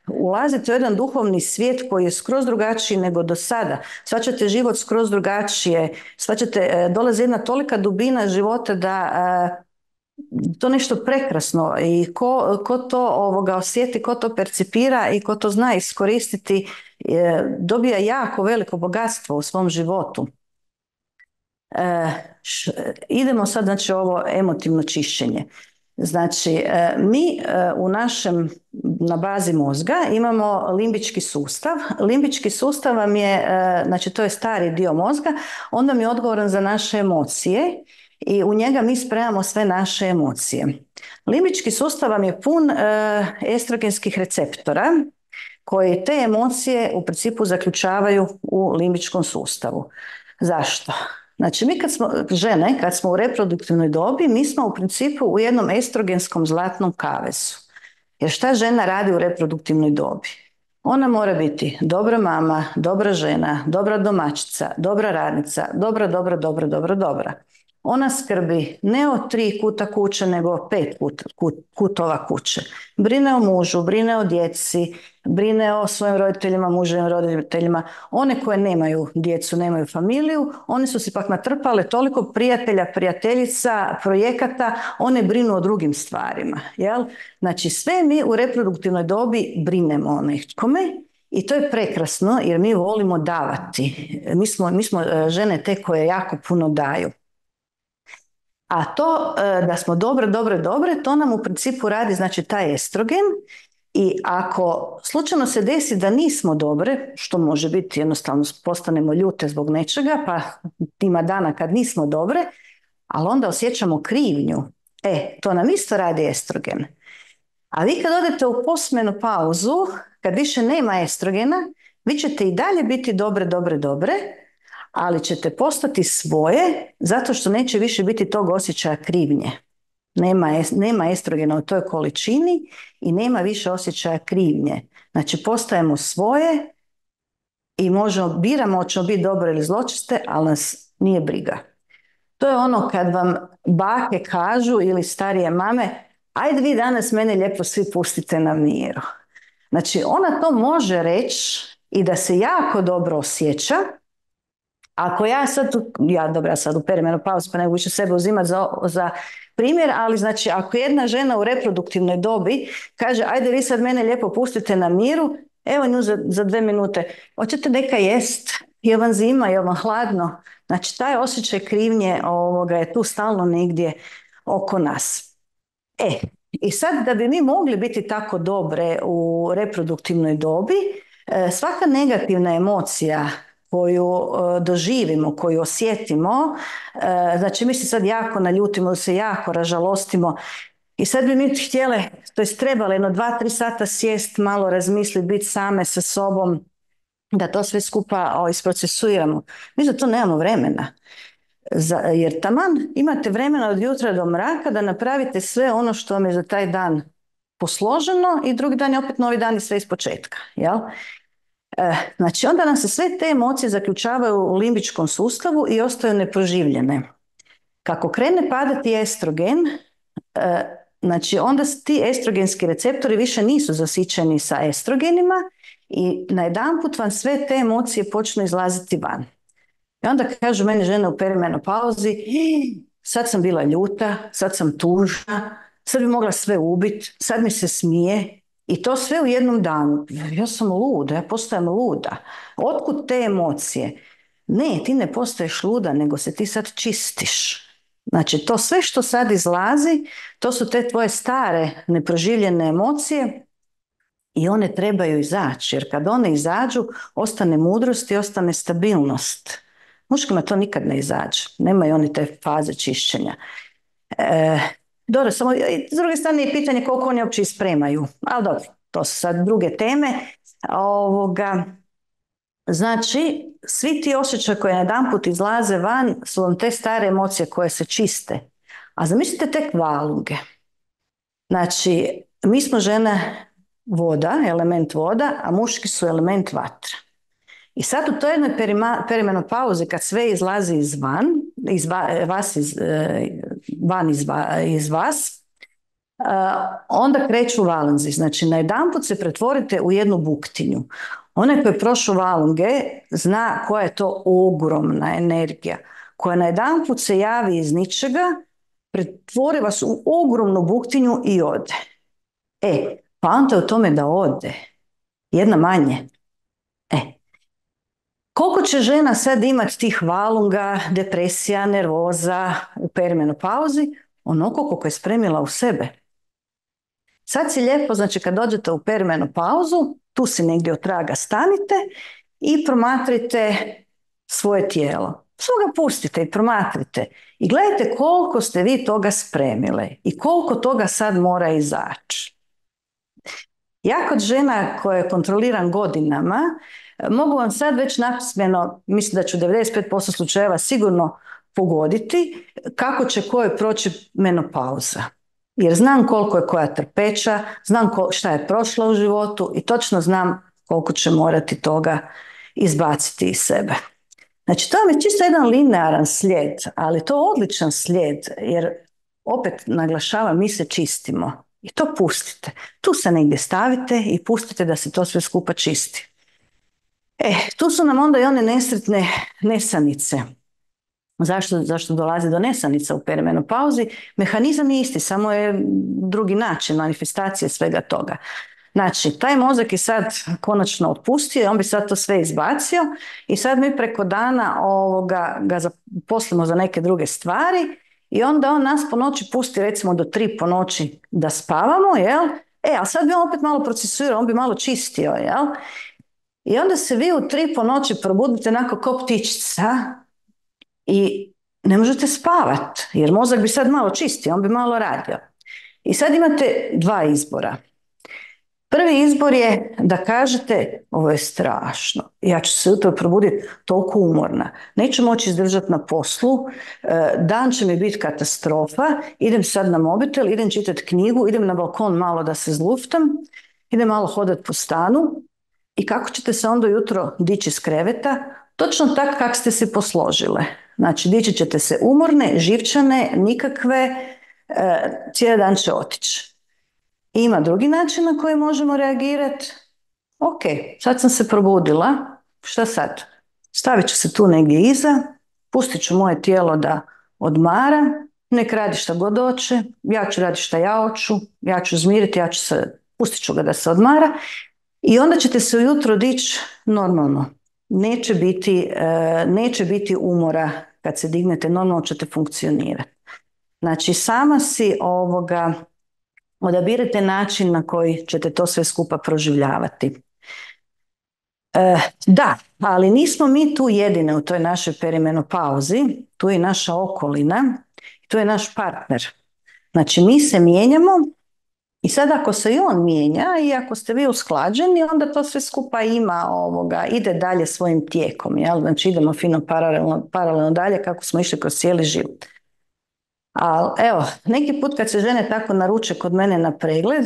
ulazite u jedan duhovni svijet koji je skroz drugačiji nego do sada. Shvaćate život skroz drugačije. Shvaćate, e, dolazi jedna tolika dubina života da e, to nešto prekrasno i ko, ko to ovoga osjeti, ko to percipira i ko to zna iskoristiti, e, dobija jako veliko bogatstvo u svom životu. E, š, idemo sad, znači, ovo emotivno čišćenje. Znači, mi u našem, na bazi mozga imamo limbički sustav. Limbički sustav vam je, znači to je stari dio mozga, on vam je odgovoran za naše emocije i u njega mi spremamo sve naše emocije. Limbički sustav vam je pun estrogenskih receptora koji te emocije u principu zaključavaju u limbičkom sustavu. Zašto? Znači, mi kad smo žene, kad smo u reproduktivnoj dobi, mi smo u principu u jednom estrogenskom zlatnom kavezu. Jer šta žena radi u reproduktivnoj dobi? Ona mora biti dobra mama, dobra žena, dobra domaćica, dobra radnica, dobra, dobra, dobra, dobra, dobra. Ona skrbi ne o tri kuta kuće, nego o pet kut, kut, kutova kuće. Brine o mužu, brine o djeci, brine o svojim roditeljima, muževim roditeljima. One koje nemaju djecu, nemaju familiju, one su si pak natrpale toliko prijatelja, prijateljica, projekata, one brinu o drugim stvarima. Jel? Znači, sve mi u reproduktivnoj dobi brinemo o nekome i to je prekrasno jer mi volimo davati. Mi smo, mi smo žene te koje jako puno daju. A to da smo dobre, dobre, dobre, to nam u principu radi, znači, taj estrogen. I ako slučajno se desi da nismo dobre, što može biti, jednostavno postanemo ljute zbog nečega, pa ima dana kad nismo dobre, ali onda osjećamo krivnju. E, to nam isto radi estrogen. A vi kad odete u postmenopauzu, kad više nema estrogena, vi ćete i dalje biti dobre, dobre, dobre, ali ćete postati svoje zato što neće više biti tog osjećaja krivnje. Nema, nema estrogena u toj količini i nema više osjećaja krivnje. Znači postajemo svoje i možemo, biramo hoćemo biti dobre ili zločeste, ali nas nije briga. To je ono kad vam bake kažu ili starije mame, ajde vi danas mene lijepo svi pustite na miru. Znači ona to može reći i da se jako dobro osjeća. Ako ja sad, tu, ja dobro, ja sad u perimenopauzi pa ne mogu više sebe uzimati za, za primjer, ali znači ako jedna žena u reproduktivnoj dobi kaže ajde vi sad mene lijepo pustite na miru, evo nju za, za dve minute, hoćete neka jest, je vam zima, je vam hladno, znači taj osjećaj krivnje ovoga je tu stalno negdje oko nas. E, i sad da bi mi mogli biti tako dobre u reproduktivnoj dobi, svaka negativna emocija koju doživimo, koju osjetimo, znači mi se sad jako naljutimo, da se jako ražalostimo i sad bi mi htjele, to jest trebali jedno dva, tri sata sjest, malo razmisliti, biti same sa sobom, da to sve skupa isprocesuiramo. Mi za to nemamo vremena. Za, jer taman imate vremena od jutra do mraka da napravite sve ono što vam je za taj dan posloženo i drugi dan je opet novi dan i sve iz početka. Jel? E, znači onda nam se sve te emocije zaključavaju u limbičkom sustavu i ostaju neproživljene. Kako krene padati estrogen, e, znači onda ti estrogenski receptori više nisu zasićeni sa estrogenima i najedanput vam sve te emocije počnu izlaziti van. I onda kažu meni žene u perimenopauzi, sad sam bila ljuta, sad sam tužna, sad bi mogla sve ubiti, sad mi se smije i to sve u jednom danu. Ja sam luda, ja postajem luda. Otkud te emocije? Ne, ti ne postaješ luda, nego se ti sad čistiš. Znači to sve što sad izlazi, to su te tvoje stare neproživljene emocije i one trebaju izaći, jer kad one izađu, ostane mudrost i ostane stabilnost. Muškima to nikad ne izađe, nemaju oni te faze čišćenja. E, dobro, samo s druge strane je pitanje koliko oni uopće ispremaju, ali dobro, to su sad druge teme. Ovoga, znači, svi ti osjećaji koji jedanput izlaze van su vam te stare emocije koje se čiste. A zamislite tek valunge. Znači, mi smo žene voda, element voda, a muški su element vatra. I sad u toj jednoj perimenopauzi kad sve izlazi izvan, iz vas, iz, van iz, iz vas, onda kreću valunzi. Znači najedanput se pretvorite u jednu buktinju. Onaj koji je prošao valunge zna koja je to ogromna energija koja najedanput se javi iz ničega, pretvori vas u ogromnu buktinju i ode. E, poanta je u tome da ode. Jedna manje. E, koliko će žena sad imati tih valunga, depresija, nervoza u perimenopauzi? Onoliko koliko je spremila u sebe. Sad si lijepo, znači kad dođete u perimenopauzu, tu si negdje od traga stanite i promatrite svoje tijelo. Svoga pustite i promatrite. I gledajte koliko ste vi toga spremile i koliko toga sad mora izaći. Ja kod žena koje kontroliram godinama, mogu vam sad već napismeno, mislim da ću devedeset pet posto slučajeva sigurno pogoditi kako će koje proći menopauza. Jer znam koliko je koja trpeća, znam šta je prošla u životu i točno znam koliko će morati toga izbaciti iz sebe. Znači to je čisto jedan linearan slijed, ali to je odličan slijed jer opet naglašavam, mi se čistimo i to pustite. Tu se negdje stavite i pustite da se to sve skupa čisti. E, tu su nam onda i one nesretne nesanice. Zašto, zašto dolazi do nesanica u perimenopauzi? Mehanizam je isti, samo je drugi način manifestacije svega toga. Znači, taj mozak je sad konačno otpustio, on bi sad to sve izbacio i sad mi preko dana ovoga, ga zaposlimo za neke druge stvari i onda on nas po noći pusti recimo do tri po noći da spavamo, jel? E, a sad bi on opet malo procesuirao, on bi malo čistio, jel? I onda se vi u tri po noći probudite onako ko ptičica i ne možete spavat, jer mozak bi sad malo čistio, on bi malo radio. I sad imate dva izbora. Prvi izbor je da kažete ovo je strašno, ja ću se ujutro probuditi toliko umorna, neću moći izdržati na poslu, dan će mi biti katastrofa, idem sad na mobitel, idem čitati knjigu, idem na balkon malo da se zluftam, idem malo hodati po stanu i kako ćete se onda jutro dići iz kreveta? Točno tako kako ste se posložile. Znači, dići ćete se umorne, živčane, nikakve, cijeli dan će otići. Ima drugi način na koji možemo reagirati. Ok, sad sam se probudila, šta sad? Stavit ću se tu negdje iza, pustit ću moje tijelo da odmara, nek radi šta god hoće, ja ću raditi šta ja hoću, ja ću zmiriti, ja ću se, pustit ću ga da se odmara i onda ćete se ujutro dići normalno. Neće biti, neće biti umora kad se dignete, normalno ćete funkcionirati. Znači, sama si ovoga odabirate način na koji ćete to sve skupa proživljavati. E, da, ali nismo mi tu jedine u toj našoj perimenopauzi, tu je naša okolina, tu je naš partner. Znači, mi se mijenjamo i sad ako se i on mijenja i ako ste vi usklađeni, onda to sve skupa ima ovoga, ide dalje svojim tijekom, jel? Znači idemo fino paralelno, paralelno dalje kako smo išli kroz cijeli život. Ali evo, neki put kad se žene tako naruče kod mene na pregled,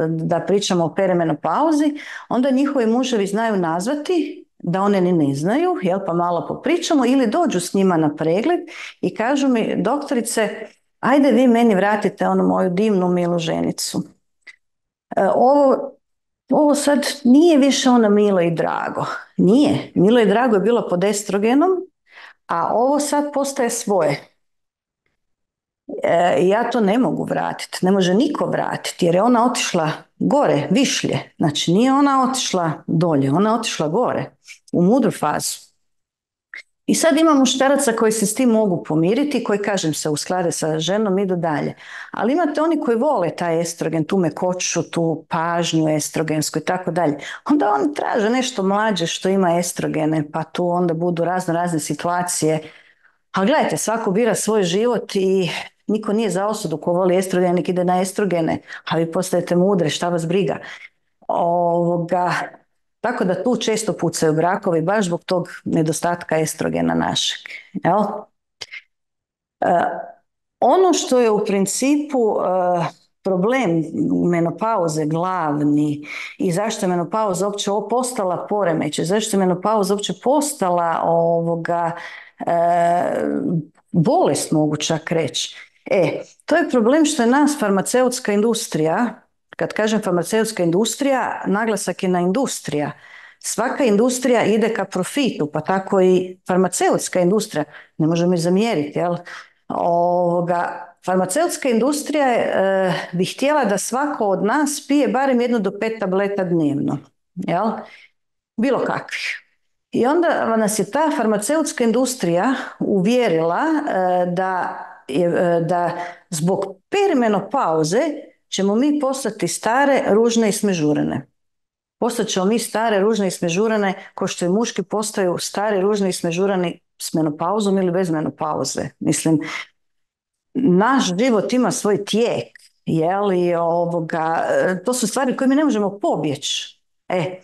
da pričamo o perimenopauzi, onda njihovi muževi znaju nazvati da one ni ne znaju, jel, pa malo popričamo, ili dođu s njima na pregled i kažu mi, doktorice, ajde vi meni vratite onu moju divnu milu ženicu. E, ovo, ovo sad nije više ono milo i drago. Nije. Milo i drago je bilo pod estrogenom, a ovo sad postaje svoje. E, ja to ne mogu vratiti, ne može niko vratiti jer je ona otišla gore, višlje, znači nije ona otišla dolje, ona je otišla gore u mudru fazu. I sad ima muškaraca koji se s tim mogu pomiriti, koji kažem se usklade sa ženom, idu dalje. Ali imate oni koji vole taj estrogen, tu mekoću, tu pažnju estrogensku i tako dalje. Onda oni traže nešto mlađe što ima estrogene, pa tu onda budu razno razne situacije. Ali gledajte, svako bira svoj život i niko nije za osudu ko voli estrogen, nek ide na estrogene, a vi postajete mudre, šta vas briga. Ovoga, tako da tu često pucaju brakovi, baš zbog tog nedostatka estrogena našeg. Jel? E, ono što je u principu e, problem menopauze glavni i zašto je menopauza uopće postala poremećaj, zašto je menopauza uopće postala ovoga, e, bolest mogu čak reći. E, to je problem što je nas farmaceutska industrija, kad kažem farmaceutska industrija, naglasak je na industrija. Svaka industrija ide ka profitu, pa tako i farmaceutska industrija. Ne možemo je zamjeriti, jel? Ovoga, farmaceutska industrija e, bi htjela da svako od nas pije barem jednu do pet tableta dnevno, jel? Bilo kakvih. I onda nas je ta farmaceutska industrija uvjerila e, da, je, da zbog perimenopauze ćemo mi postati stare, ružne i smežurene. Postat ćemo mi stare, ružne i smežurene ko što i muški postaju stare, ružne i smežureni s menopauzom ili bez menopauze. Mislim, naš život ima svoj tijek, jeli, ovoga, to su stvari koje mi ne možemo pobjeći. E,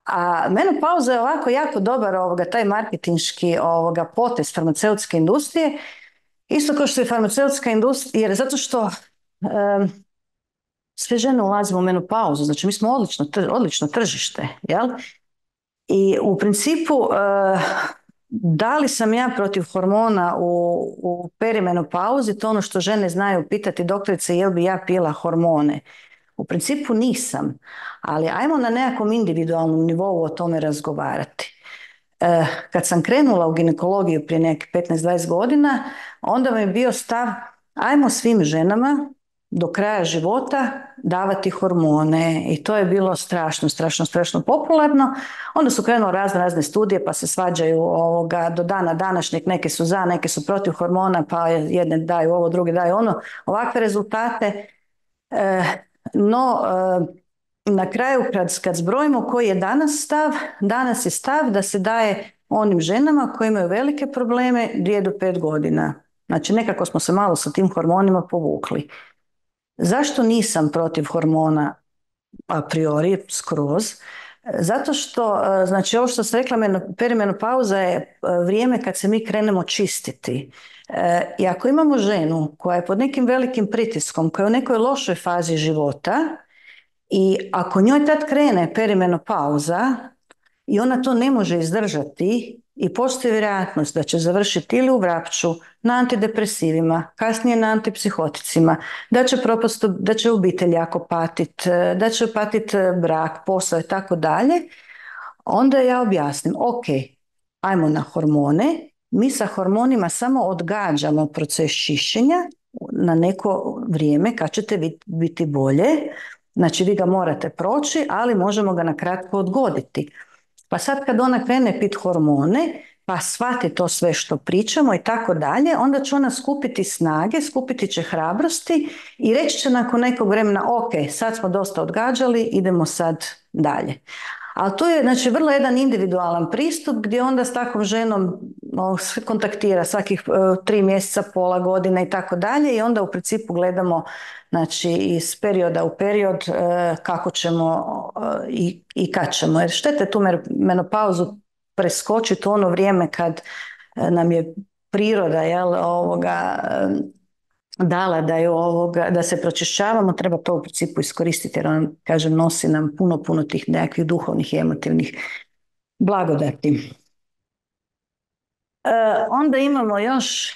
a menopauza je ovako jako dobar ovoga, taj marketinški ovoga, potez farmaceutske industrije, isto kao što je farmaceutska industrija, jer zato što um, sve žene ulazimo u menopauzu, znači mi smo odlično, odlično tržište, jel? I u principu uh, da li sam ja protiv hormona u, u perimenopauzi, to ono što žene znaju pitati doktorice jel bi ja pila hormone. U principu nisam, ali ajmo na nekakvom individualnom nivou o tome razgovarati. E, kad sam krenula u ginekologiju prije nekih petnaest dvadeset godina, onda mi je bio stav ajmo svim ženama do kraja života davati hormone i to je bilo strašno, strašno, strašno popularno. Onda su krenule razne, razne studije pa se svađaju ovoga, do dana današnjeg, neke su za, neke su protiv hormona, pa jedne daju ovo, druge daju ono, ovakve rezultate. E, no, e, na kraju kad, kad zbrojimo koji je danas stav, danas je stav da se daje onim ženama koji imaju velike probleme dvije do pet godina. Znači nekako smo se malo sa tim hormonima povukli. Zašto nisam protiv hormona? a priori skroz, zato što, znači ovo što sam rekla, perimenopauza je vrijeme kad se mi krenemo čistiti. I ako imamo ženu koja je pod nekim velikim pritiskom, koja je u nekoj lošoj fazi života i ako njoj tad krene perimenopauza i ona to ne može izdržati i postoji vjerojatnost da će završiti ili u Vrapču, na antidepresivima, kasnije na antipsihoticima, da će propast, da će obitelj jako patit, da će patit brak, posao i tako dalje, onda ja objasnim, ok, ajmo na hormone, mi sa hormonima samo odgađamo proces čišćenja na neko vrijeme kad ćete biti bolje, znači vi ga morate proći, ali možemo ga na kratko odgoditi. Pa sad kad ona krene pit hormone, pa shvati to sve što pričamo i tako dalje, onda će ona skupiti snage, skupiti će hrabrosti i reći će nakon nekog vremena, ok, sad smo dosta odgađali, idemo sad dalje. Ali to je, znači, vrlo jedan individualan pristup gdje onda s takvom ženom no, kontaktira svakih uh, tri mjeseca, pola godine i tako dalje i onda u principu gledamo, znači, iz perioda u period uh, kako ćemo uh, i, i kad ćemo. Jer štete tu menopauzu preskočiti u ono vrijeme kad uh, nam je priroda, jel, ovoga, uh, dala da, je ovoga, da se pročišćavamo, treba to u principu iskoristiti jer on, kažem, nosi nam puno, puno tih nekakvih duhovnih i emotivnih blagodati. E, onda imamo još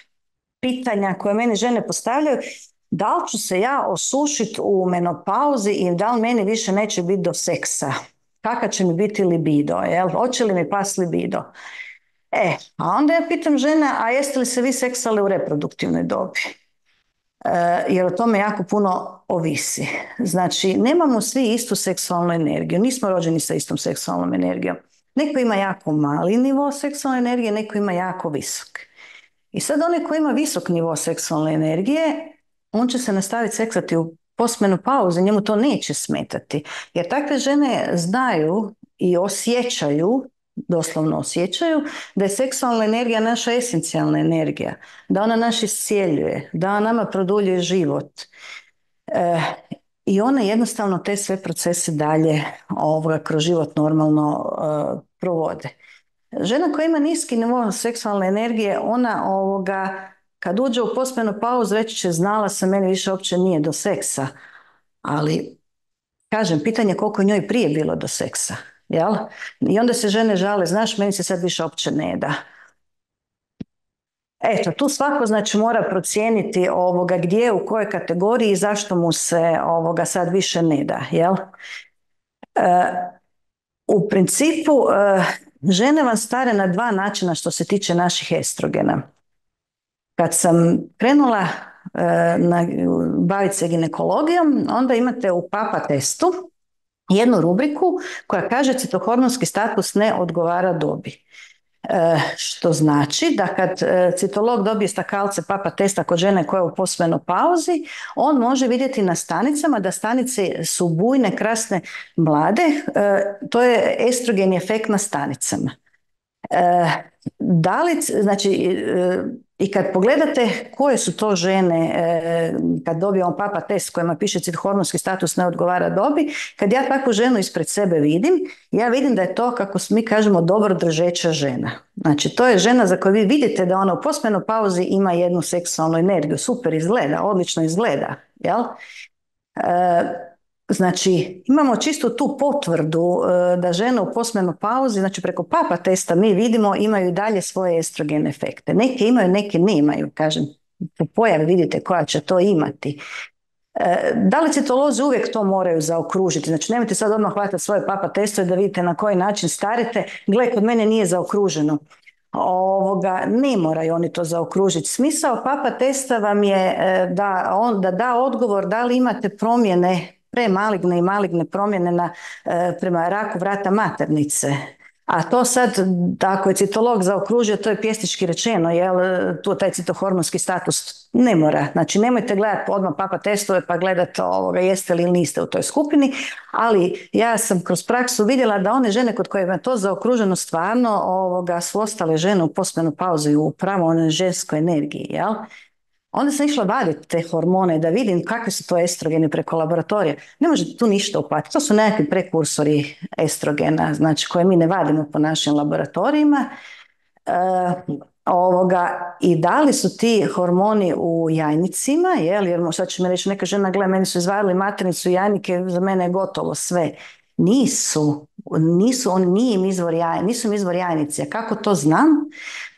pitanja koje meni žene postavljaju. Da li ću se ja osušiti u menopauzi i da li meni više neće biti do seksa? Kakav će mi biti libido? Jel? Hoće li mi pas libido? E, a onda ja pitam žene, a jeste li se vi seksali u reproduktivnoj dobi? Jer o tome jako puno ovisi. Znači, nemamo svi istu seksualnu energiju, nismo rođeni sa istom seksualnom energijom. Neko ima jako mali nivo seksualne energije, neko ima jako visok. I sad onaj koji ima visok nivo seksualne energije, on će se nastaviti seksati u postmenopauzi, njemu to neće smetati. Jer takve žene znaju i osjećaju, doslovno osjećaju, da je seksualna energija naša esencijalna energija, da ona nas iscijeljuje, da ona nama produljuje život. E, I one jednostavno te sve procese dalje ovoga, kroz život normalno e, provode. Žena koja ima niski nivo seksualne energije, ona ovoga, kad uđe u postmenopauzu već će znala se, meni više uopće nije do seksa, ali kažem, pitanje koliko je njoj prije bilo do seksa. Jel? I onda se žene žale, znaš, meni se sad više uopće ne da. Eto, tu svako znači mora procijeniti ovoga gdje, u kojoj kategoriji i zašto mu se ovoga sad više ne da. Jel? E, u principu e, žene vam stare na dva načina što se tiče naših estrogena. Kad sam krenula e, na, baviti se ginekologijom, onda imate u papa testu jednu rubriku koja kaže citohormonski status ne odgovara dobi. E, što znači da kad e, citolog dobije stakalce papa testa kod žene koja je u postmenopauzi, on može vidjeti na stanicama da stanice su bujne, krasne, mlade. E, to je estrogen efekt na stanicama. E, da li, znači, e, i kad pogledate koje su to žene, e, kad dobijemo papa test kojima piše hormonski status ne odgovara dobi, kad ja takvu ženu ispred sebe vidim, ja vidim da je to, kako mi kažemo, dobro držeča žena. Znači, to je žena za koju vi vidite da ona u postmenopauzi ima jednu seksualnu energiju, super izgleda, odlično izgleda, jel? E, Znači, imamo čisto tu potvrdu e, da žene u postmenopauzi, znači preko papa testa mi vidimo imaju dalje svoje estrogen efekte. Neke imaju, neke nemaju, kažem, po pojavi vidite koja će to imati. E, da li citolozi uvijek to moraju zaokružiti? Znači, nemojte sad odmah hvatati svoje papa testove da vidite na koji način starite. Gle, kod mene nije zaokruženo. Ovoga, ne moraju oni to zaokružiti. Smisao papa testa vam je da, on, da da odgovor da li imate promjene, premaligne i maligne promjene na, prema raku vrata maternice. A to sad, ako je citolog zaokružio, to je pjesnički rečeno, jel, tu taj citohormonski status ne mora. Znači, nemojte gledati odmah papa testove pa gledati ovoga, jeste li ili niste u toj skupini, ali ja sam kroz praksu vidjela da one žene kod kojima je to zaokruženo stvarno ovoga, su ostale žene u postmenopauzi u pravo onoj ženskoj energiji, jel? Onda sam išla vaditi te hormone da vidim kakve su to estrogeni preko laboratorija. Ne možete tu ništa uhvatiti. To su nekakvi prekursori estrogena, znači koje mi ne vadimo po našim laboratorijima. E, ovoga, i da li su ti hormoni u jajnicima, jel, jer sad će mi reći neka žena, gle, meni su izvadili maternicu i jajnike, za mene je gotovo sve. Nisu, nisu, on nije im izvor jaj, nisu im izvor jajnice. Kako to znam?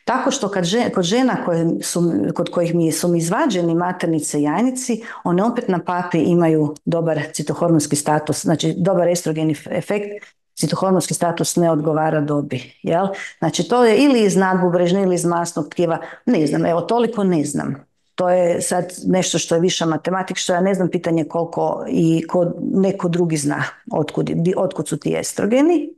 Tako što kad žena, kod žena koje su, kod kojih mi su mi izvađeni maternice i jajnici, one opet na papi imaju dobar citohormonski status, znači dobar estrogeni efekt, citohormonski status ne odgovara dobi. Jel? Znači to je ili iz nadbubrežne ili iz masnog tkiva, ne znam, evo toliko ne znam. To je sad nešto što je viša matematika, što ja ne znam, pitanje koliko i ko, neko drugi zna otkud, otkud su ti estrogeni.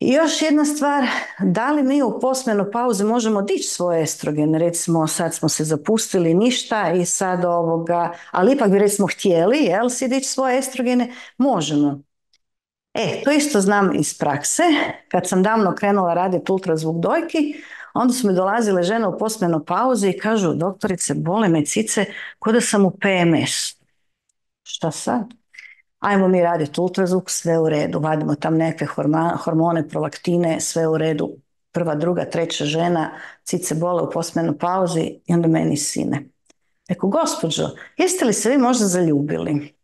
I još jedna stvar, da li mi u postmenopauzi možemo dići svoje estrogene, recimo sad smo se zapustili ništa i sad ovoga, ali ipak bi recimo htjeli, jel si dići svoje estrogene, možemo. E, to isto znam iz prakse, kad sam davno krenula raditi ultrazvuk dojki, onda su mi dolazile žene u postmenopauzi i kažu, doktorice, bole me cice, ko da sam u P M S. Šta sad? Ajmo mi raditi ultrazvuk, sve u redu, vadimo tam neke hormone, prolaktine, sve u redu. Prva, druga, treća žena, cice bole u postmenopauzi i onda meni sine. Eko, gospođo, jeste li se vi možda zaljubili?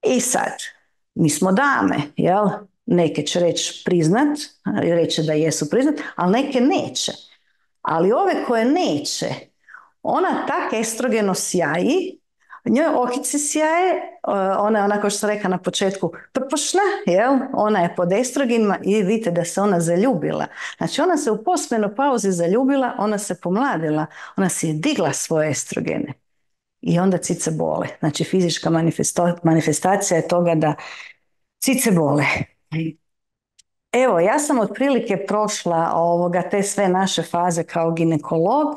I sad, mi smo dame, jel? Neke će reći priznat, reći da jesu priznat, ali neke neće. Ali ove koje neće, ona tak estrogeno sjaji, njoj okice sjaje, ona je onako što sam rekla na početku prpošna, jel? Ona je pod estrogenima i vidite da se ona zaljubila. Znači ona se u postmenopauzi zaljubila, ona se pomladila, ona se je digla svoje estrogene. I onda cice bole. Znači fizička manifestacija je toga da cice bole. Evo, ja sam otprilike prošla ovoga, te sve naše faze kao ginekolog.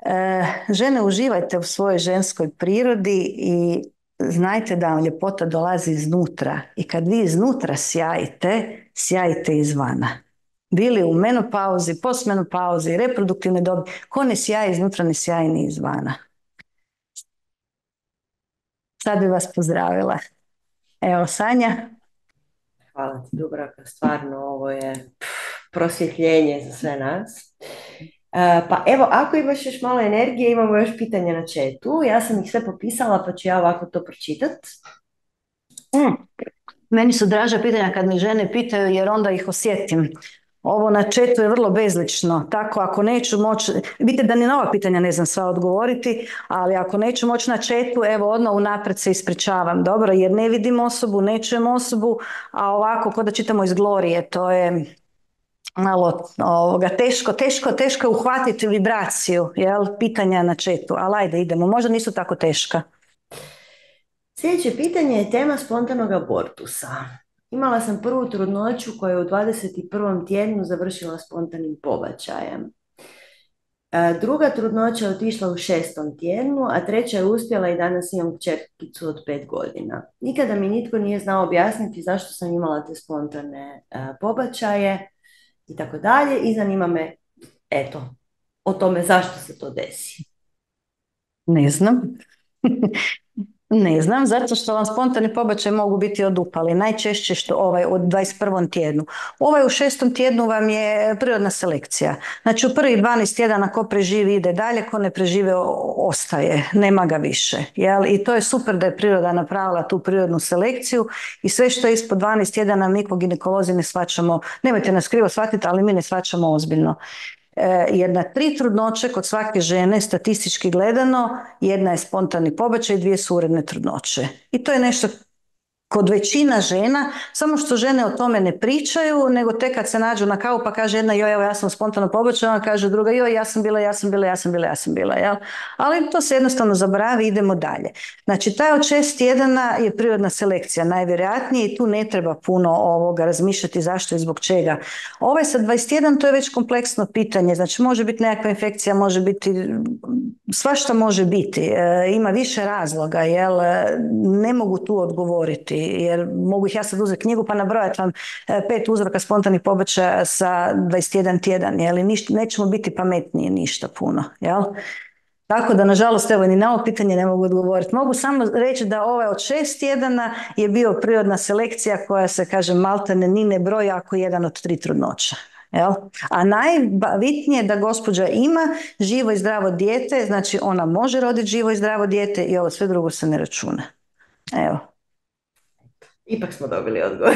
E, žene, uživajte u svojoj ženskoj prirodi i znajte da vam ljepota dolazi iznutra. I kad vi iznutra sjajite, sjajite izvana. Bili u menopauzi, postmenopauzi, reproduktivne dobi, ko ne sjaji iznutra, ne sjaji ni izvana. Sad bi vas pozdravila. Evo, Sanja. Hvala ti, Dubravka, stvarno ovo je pff, prosvjetljenje za sve nas. Uh, pa evo, ako imaš još malo energije, imamo još pitanja na chatu. Ja sam ih sve popisala, pa ću ja ovako to pročitat. Mm. Meni su draža pitanja kad mi žene pitaju, jer onda ih osjetim. Ovo na chatu je vrlo bezlično, tako ako neću moći, vidite da ni na ova pitanja ne znam sva odgovoriti, ali ako neću moći na chatu, evo odmah unaprijed se ispričavam, dobro, jer ne vidim osobu, ne čujem osobu, a ovako kod da čitamo iz Glorije, to je malo ovoga, teško, teško, teško uhvatiti vibraciju, jel, pitanja na chatu, ali ajde idemo, možda nisu tako teška. Sljedeće pitanje je tema spontanog abortusa. Imala sam prvu trudnoću koja je u dvadeset prvom tjednu završila spontanim pobačajem. Druga trudnoća je otišla u šestom tjednu, a treća je uspjela i danas imam kćerkicu od pet godina. Nikada mi nitko nije znao objasniti zašto sam imala te spontane pobačaje i tako dalje. I zanima me, eto, o tome zašto se to desi. Ne znam. Ne znam, zato što vam spontani pobačaj mogu biti odupali. Najčešće što ovaj u dvadeset prvom tjednu. Ovaj u šestom tjednu vam je prirodna selekcija. Znači u prvih dvanaest tjedana ko preživi ide dalje, ko ne prežive ostaje, nema ga više. Jel? I to je super da je priroda napravila tu prirodnu selekciju i sve što je ispod dvanaest tjedana mi ko ginekolozi ne shvaćamo, nemojte nas krivo shvatiti, ali mi ne shvaćamo ozbiljno. Jer na tri trudnoće kod svake žene statistički gledano jedna je spontani pobačaj i dvije su uredne trudnoće. I to je nešto kod većina žena, samo što žene o tome ne pričaju, nego tek kad se nađu na kavu pa kaže jedna joj evo ja sam spontano pobačaj, ona kaže druga joj ja sam bila, ja sam bila, ja sam bila, ja sam bila. Jel? Ali to se jednostavno zaboravi, idemo dalje. Znači taj od šest tjedana je prirodna selekcija najvjerojatnije i tu ne treba puno ovoga razmišljati zašto i zbog čega. Ovaj sa dvadeset jedan to je već kompleksno pitanje, znači može biti nekakva infekcija, može biti, svašta može biti, e, ima više razloga, jel? Ne mogu tu odgovoriti. Jer mogu ih ja sad uzeti knjigu pa nabrojati vam pet uzroka spontanih pobačaja sa dvadeset jedan tjedan, jel? Ništa, nećemo biti pametnije ništa puno, jel? Tako da, nažalost, evo, ni na ovo pitanje ne mogu odgovoriti. Mogu samo reći da ovaj od šest tjedana je bio prirodna selekcija koja se, kaže, maltene ni ne broji ako je jedan od tri trudnoća. Jel? A najbitnije je da gospođa ima živo i zdravo dijete, znači ona može roditi živo i zdravo dijete i ovo sve drugo se ne računa. Evo. Ipak smo dobili odgovor.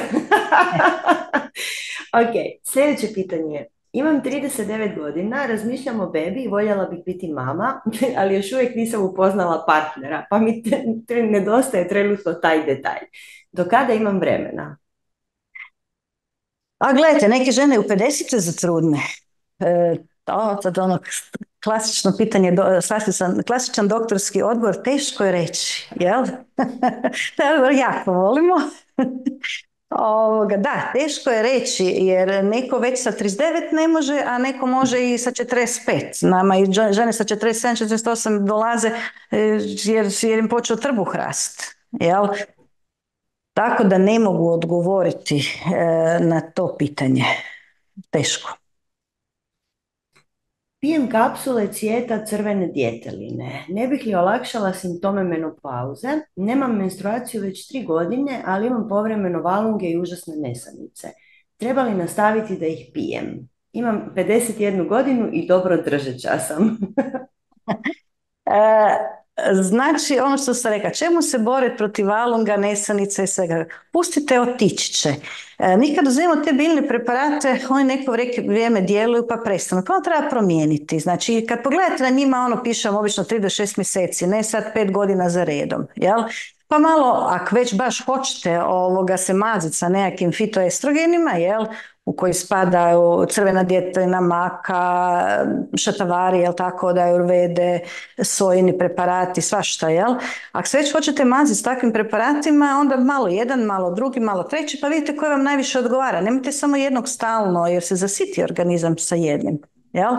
Ok, sljedeće pitanje je. Imam trideset devet godina, razmišljam o bebi i voljela bih biti mama, ali još uvijek nisam upoznala partnera, pa mi te, te nedostaje trenutno taj detalj. Do kada imam vremena? A gledajte, neke žene u pedeset zatrudne. E, to, sad ono klasično pitanje, do, klasičan, klasičan doktorski odgovor, teško je reći, jel? Taj odgovor jako volimo. Ovoga, da, teško je reći, jer neko već sa trideset devet ne može, a neko može i sa četrdeset pet. Nama i žene sa četrdeset sedam četrdeset osam dolaze e, jer, jer im počeo trbuh rast, jel? Tako da ne mogu odgovoriti e, na to pitanje. Teško. Pijem kapsule cvijeta crvene djeteline. Ne bih li olakšala simptome menopauze? Nemam menstruaciju već tri godine, ali imam povremeno valunge i užasne nesanice. Treba li nastaviti da ih pijem? Imam pedeset jednu godinu i dobro držeća sam. e, Znači, ono što sam rekla, čemu se boriti protiv valunga, nesanica i svega? Pustite, otići će. E, mi kad uzmemo te biljne preparate, oni neko vrijeme djeluju pa prestanu. Pa treba promijeniti. Znači, kad pogledate na njima, ono piše obično tri do šest mjeseci, ne sad pet godina za redom. Jel? Pa malo, ako već baš hoćete ovoga se maziti sa nekakvim fitoestrogenima, jel, u koji spadaju crvena djetelina, maka, šatavari, jel tako, da ajurvede, sojini preparati, svašta, jel? Ako se već hoćete maziti s takvim preparatima, onda malo jedan, malo drugi, malo treći, pa vidite koji vam najviše odgovara. Nemojte samo jednog stalno, jer se zasiti organizam sa jednim, jel?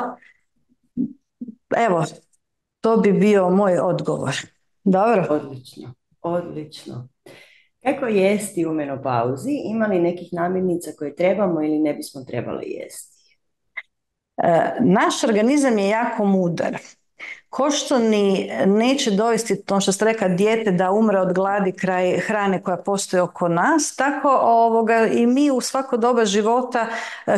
Evo, to bi bio moj odgovor. Dobro? Odlično, odlično. Kako jesti u menopauzi? Ima li nekih namirnica koje trebamo ili ne bismo trebali jesti? E, naš organizam je jako mudar. Ko što ni neće dovesti, to što ste rekla, dijete da umre od gladi kraj hrane koja postoji oko nas, tako ovoga, i mi u svako doba života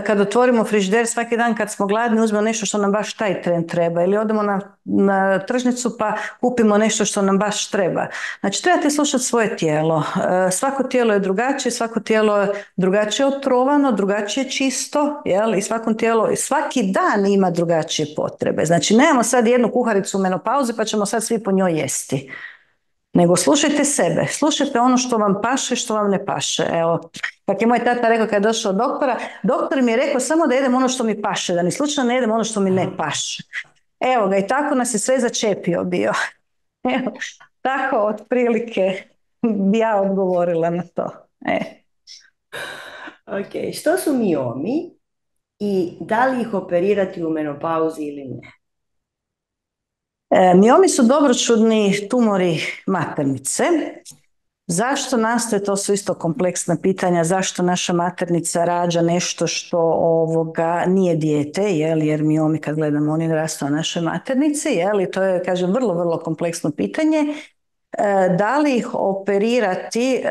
kad otvorimo frižider svaki dan kad smo gladni uzmemo nešto što nam baš taj tren treba ili odemo na, na tržnicu pa kupimo nešto što nam baš treba. Znači trebate slušati svoje tijelo. Svako tijelo je drugačije, svako tijelo je drugačije otrovano, drugačije čisto, jel? I svakom tijelo, svaki dan ima drugačije potrebe. Znači nemamo sad jednu kuharicu u menopauzi pa ćemo sad svi po njoj jesti. Nego slušajte sebe, slušajte ono što vam paše, što vam ne paše. Evo, kako je moj tata rekao kad je došao od doktora, doktor mi je rekao samo da jedem ono što mi paše, da ni slučajno ne jedem ono što mi ne paše. Evo ga, i tako nas je sve začepio bio. Evo, tako otprilike bi ja odgovorila na to. E. Ok, što su miomi i da li ih operirati u menopauzi ili ne? E, miomi su dobročudni tumori maternice. Zašto nastaje, to su isto kompleksna pitanja, zašto naša maternica rađa nešto što ovoga nije dijete, jel, jer miomi kad gledamo oni rastu na našoj maternici, jel, i to je, kažem, vrlo, vrlo kompleksno pitanje. Da li ih operirati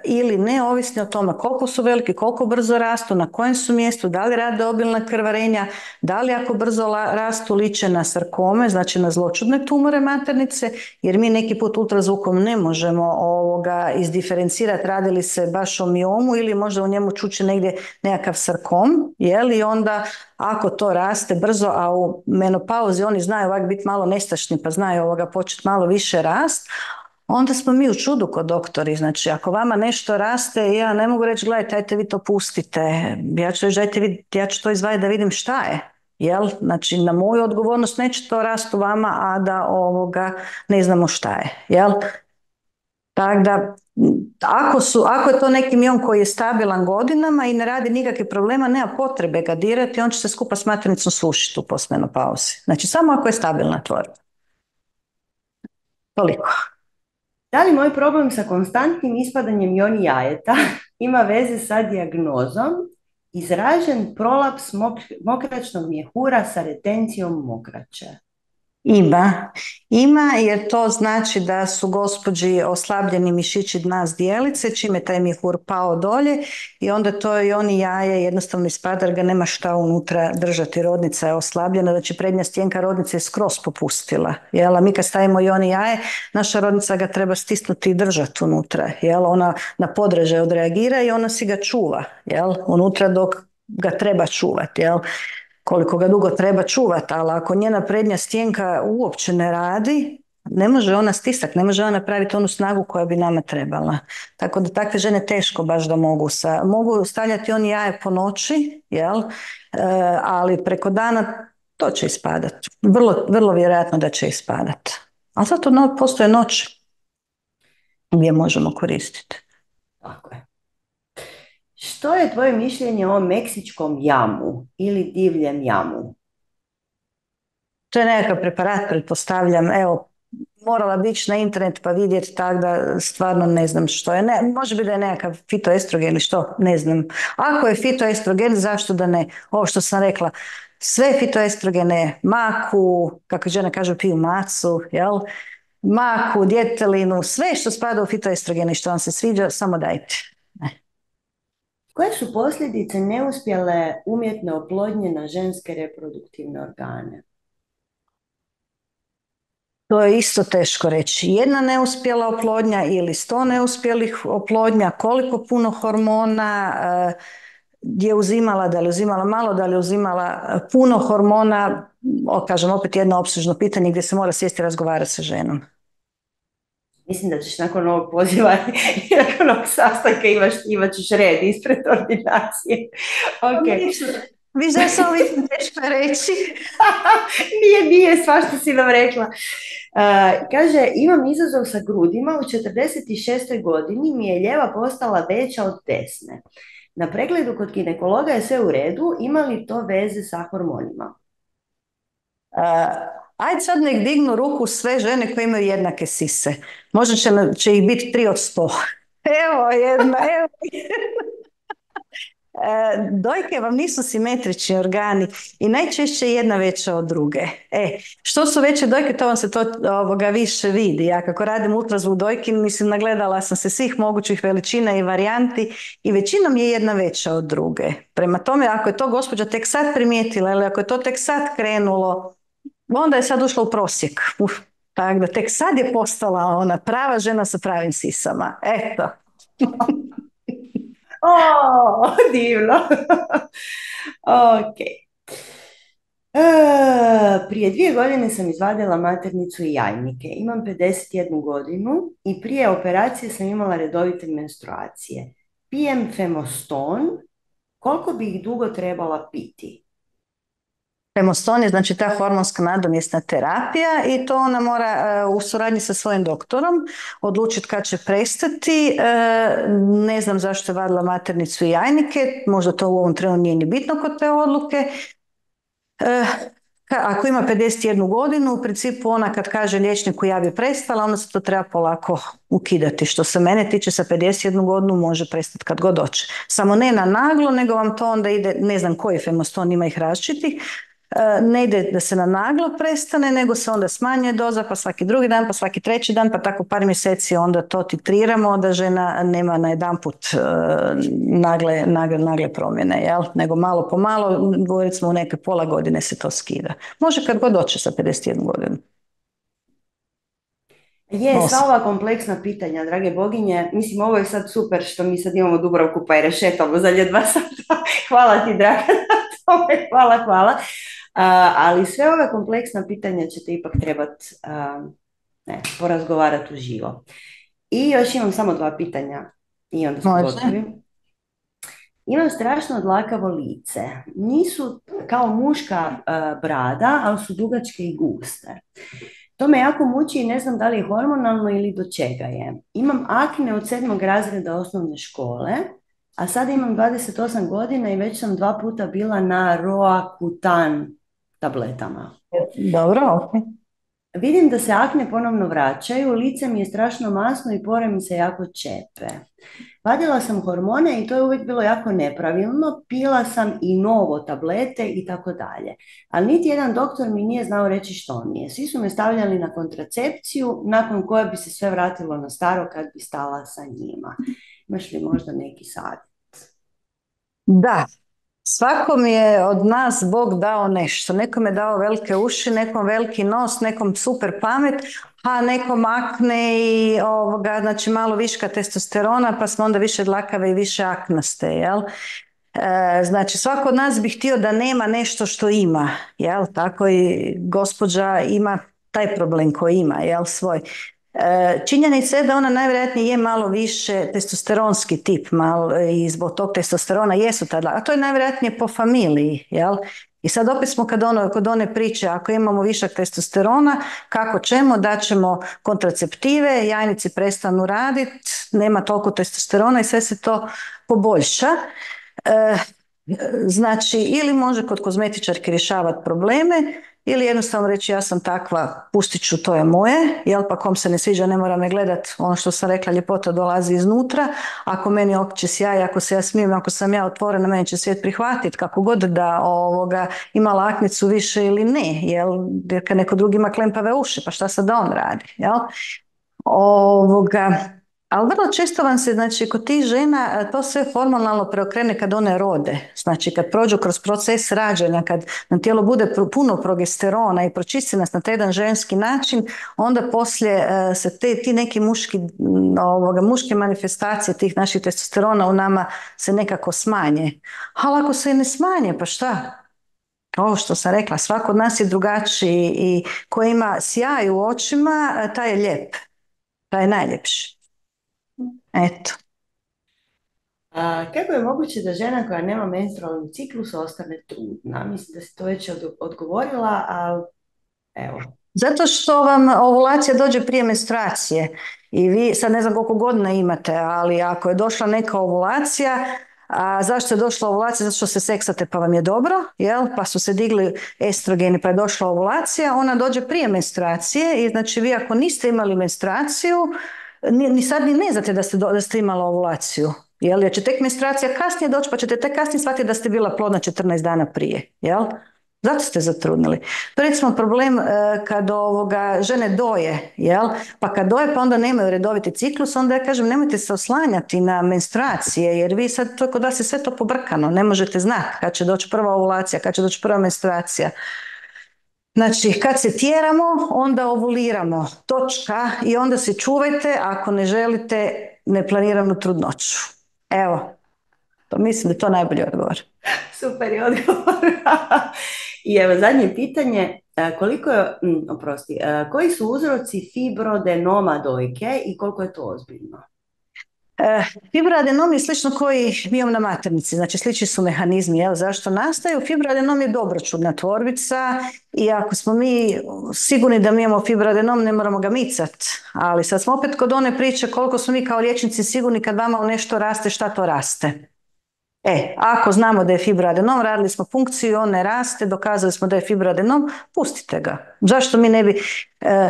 ili ne, ovisno o tome koliko su veliki, koliko brzo rastu, na kojem su mjestu, da li rade obilna krvarenja, da li ako brzo rastu liče na sarkome, znači na zloćudne tumore maternice, jer mi neki put ultrazvukom ne možemo ovoga izdiferencirati radi li se baš o miomu ili možda u njemu čuči negdje nekakav sarkom, jel, i onda ako to raste brzo, a u menopauzi oni znaju ovak biti malo nestašni pa znaju ovoga početi malo više rast, onda smo mi u čudu kod doktori. Znači, ako vama nešto raste, ja ne mogu reći, gledajte, ajte vi to pustite. Ja ću reći, dajte vi, ja ću to izvaditi da vidim šta je. Jel? Znači, na moju odgovornost neće to rast u vama, a da ovoga ne znamo šta je. Jel? Tako da, ako, su, ako je to neki miom koji je stabilan godinama i ne radi nikakve problema, nema potrebe ga dirati, on će se skupa s maternicom sušiti u postmenopauzi. Znači, samo ako je stabilna tvorba. Toliko. Da li moj problem sa konstantnim ispadanjem joni jajeta ima veze sa dijagnozom izražen prolaps mok- mokračnog mjehura sa retencijom mokraće? Ima, ima jer to znači da su gospođi oslabljeni mišići dna zdjelice, čime taj mjehur pao dolje i onda to i oni jaje jednostavno ispada jer ga nema šta unutra držati. Rodnica je oslabljena, znači prednja stjenka rodnice je skroz popustila. Jel? A mi kad stavimo i oni jaje, naša rodnica ga treba stisnuti i držati unutra. Jel? Ona na podražaj odreagira i ona si ga čuva, jel? Unutra dok ga treba čuvati. Jel? Koliko ga dugo treba čuvati, ali ako njena prednja stjenka uopće ne radi, ne može ona stisati, ne može ona napraviti onu snagu koja bi nama trebala. Tako da takve žene teško baš da mogu sa, mogu stavljati oni jaje po noći, jel? E, ali preko dana to će ispadati. Vrlo, vrlo vjerojatno da će ispadati. Ali zato no, postoje noć gdje možemo koristiti. Tako je. Što je tvoje mišljenje o meksičkom jamu ili divljem jamu? To je nekakav preparat, pretpostavljam. Evo, morala bi ići na internet pa vidjeti, tako da stvarno ne znam što je. Ne, može biti da je nekakav fitoestrogen ili što, ne znam. Ako je fitoestrogen, zašto da ne? Ovo što sam rekla, sve fitoestrogene, maku, kako žene kažu, piju macu, jel? Maku, djetelinu, sve što spada u fitoestrogene i što vam se sviđa, samo dajte. Koje su posljedice neuspjele umjetne oplodnje na ženske reproduktivne organe? To je isto teško reći. Jedna neuspjela oplodnja ili sto neuspjelih oplodnja, koliko puno hormona je uzimala, da li uzimala malo, da li uzimala puno hormona, o, kažem opet jedno opsežno pitanje gdje se mora sjesti i razgovarati sa ženom. Mislim da ćeš nakon ovog poziva i nakon ovog sastanka imaš, imat ćeš red ispred ordinacije. Okay. Vi da se ovi teško reći? Nije, nije, svašta si nam rekla. Uh, kaže, imam izazov sa grudima, u četrdeset šestoj godini mi je ljeva postala veća od desne. Na pregledu kod ginekologa je sve u redu, ima li to veze sa hormonima? Uh, ajde sad nek dignu ruku sve žene koje imaju jednake sise. Možda će, će ih biti tri od sto. Evo jedna, evo jedna. E, dojke vam nisu simetrični organi i najčešće jedna veća od druge. E, što su veće dojke, to vam se to ovoga više vidi. Ja kako radim ultrazvuk dojki, mislim, nagledala sam se svih mogućih veličina i varijanti i većinom je jedna veća od druge. Prema tome, ako je to gospođa tek sad primijetila ili ako je to tek sad krenulo, onda je sad ušla u prosjek. Uf, tako da tek sad je postala ona prava žena sa pravim sisama. Eto. O, divno. Ok. E, prije dvije godine sam izvadila maternicu i jajnike. Imam pedeset jednu godinu i prije operacije sam imala redovite menstruacije. Pijem Femoston. Koliko bi ih dugo trebala piti? Femoston je znači ta hormonska nadomjesna terapija i to ona mora uh, u suradnji sa svojim doktorom odlučiti kad će prestati. Uh, ne znam zašto je vadila maternicu i jajnike, možda to u ovom trenu nije ni bitno kod te odluke. Uh, ako ima pedeset jednu godinu, u principu ona kad kaže liječniku ja bi prestala, onda se to treba polako ukidati. Što se mene tiče, sa pedeset jednu godinu može prestati kad god doće. Samo ne na naglo, nego vam to onda ide, ne znam koji Femoston, ima ih različitih, ne ide da se na naglo prestane, nego se onda smanjuje doza, pa svaki drugi dan, pa svaki treći dan, pa tako par mjeseci onda to titriramo da žena nema na jedanput uh, nagle, nagle, nagle promjene, jel? Nego malo po malo, recimo u neke pola godine se to skida. Može kad god doće sa pedeset jednu godinu. Je, sva ova kompleksna pitanja, drage boginje, mislim, ovo je sad super što mi sad imamo Dubravku pa je rešetamo za dva sata. Hvala ti, draga, na tome, hvala, hvala. Uh, ali sve ove kompleksna pitanja ćete ipak trebati uh, ne, porazgovarati uživo. I još imam samo dva pitanja i onda smo gotovi. Imam strašno dlakavo lice. Nisu kao muška uh, brada, ali su dugačke i guste. To me jako muči i ne znam da li je hormonalno ili do čega je. Imam akne od sedmog razreda osnovne škole, a sada imam dvadeset osam godina i već sam dva puta bila na Roacutan tabletama. Dobro, ok. Vidim da se akne ponovno vraćaju, lice mi je strašno masno i pore mi se jako čepe. Vadila sam hormone i to je uvijek bilo jako nepravilno, pila sam i novo tablete i tako dalje. Ali niti jedan doktor mi nije znao reći što mi je. Svi su me stavljali na kontracepciju, nakon koje bi se sve vratilo na staro kad bi stala sa njima. Imaš li možda neki savjet? Da, svakom je od nas Bog dao nešto. Nekom je dao velike uši, nekom veliki nos, nekom super pamet, a nekom akne i ovoga, znači malo viška testosterona, pa smo onda više dlakave i više aknaste, jel? E, znači svako od nas bi htio da nema nešto što ima, jel? Tako i gospođa ima taj problem koji ima, jel, svoj. E, činjenica je da ona najvjerojatnije je malo više testosteronski tip malo, i zbog tog testosterona jesu tada, a to je najvjerojatnije po familiji, jel? I sad opet smo kad ono, kod one priče, ako imamo višak testosterona, kako ćemo, da ćemo kontraceptive, jajnici prestanu raditi, nema toliko testosterona i sve se to poboljša. E, znači, ili može kod kozmetičarke rješavati probleme, ili jednostavno reći ja sam takva, pustit ću, to je moje, jel, pa kom se ne sviđa ne mora me gledat, ono što sam rekla, ljepota dolazi iznutra, ako meni oči sjaj, ako se ja smijem, ako sam ja otvorena, meni će svijet prihvatiti, kako god da ovoga, ima laknicu više ili ne, jel, jer kad neko drugi ima klempave uši, pa šta sad da on radi, jel? Ovoga, ali vrlo često vam se, znači, kod tih žena to sve hormonalno preokrene kad one rode. Znači, kad prođu kroz proces rađanja, kad na tijelu bude puno progesterona i pročisti nas na taj jedan ženski način, onda poslije se te, ti neki muški, ovoga, muške manifestacije tih naših testosterona u nama se nekako smanje. Ali ako se ne smanje, pa šta? Ovo što sam rekla, svako od nas je drugačiji i ko ima sjaj u očima, taj je lijep. Taj je najljepši. Eto. A, kako je moguće da žena koja nema menstrualni ciklus ostane trudna? Mislim da si to već od- odgovorila, ali evo. Zato što vam ovulacija dođe prije menstruacije i vi, sad ne znam koliko godina imate, ali ako je došla neka ovulacija, a zašto je došla ovulacija? Zato što se seksate pa vam je dobro, jel? Pa su se digli estrogeni pa je došla ovulacija, ona dođe prije menstruacije i znači vi ako niste imali menstruaciju, ni, ni sad ni ne znate da ste, do- da ste imali ovulaciju. Jel? Jer će tek menstruacija kasnije doći pa ćete tek kasnije shvatiti da ste bila plodna četrnaest dana prije. Jel? Zato ste zatrudnili. To je recimo problem e, kad ovoga žene doje, jel? Pa kad doje pa onda nemaju redoviti ciklus, onda ja kažem nemojte se oslanjati na menstruacije, jer vi sad, to kod vas je sve to pobrkano, ne možete znati kad će doći prva ovulacija, kad će doći prva menstruacija. Znači, kad se tjeramo, onda ovuliramo, točka, i onda se čuvajte ako ne želite neplaniranu trudnoću. Evo, to mislim da je to najbolji odgovor. Super je odgovor. I evo zadnje pitanje, e, koliko je, mm, oprosti, e, koji su uzroci fibroadenoma dojke i koliko je to ozbiljno? E, fibroadenom je slično koji miom na maternici, znači slični su mehanizmi, jel, zašto nastaju. Fibroadenom je dobročudna tvorbica i ako smo mi sigurni da mi imamo fibroadenom, ne moramo ga micat, ali sad smo opet kod one priče koliko smo mi kao liječnici sigurni kad vama u nešto raste, šta to raste. E, ako znamo da je fibroadenom, radili smo funkciju, on ne raste, dokazali smo da je fibroadenom, pustite ga. Zašto mi ne bi... e,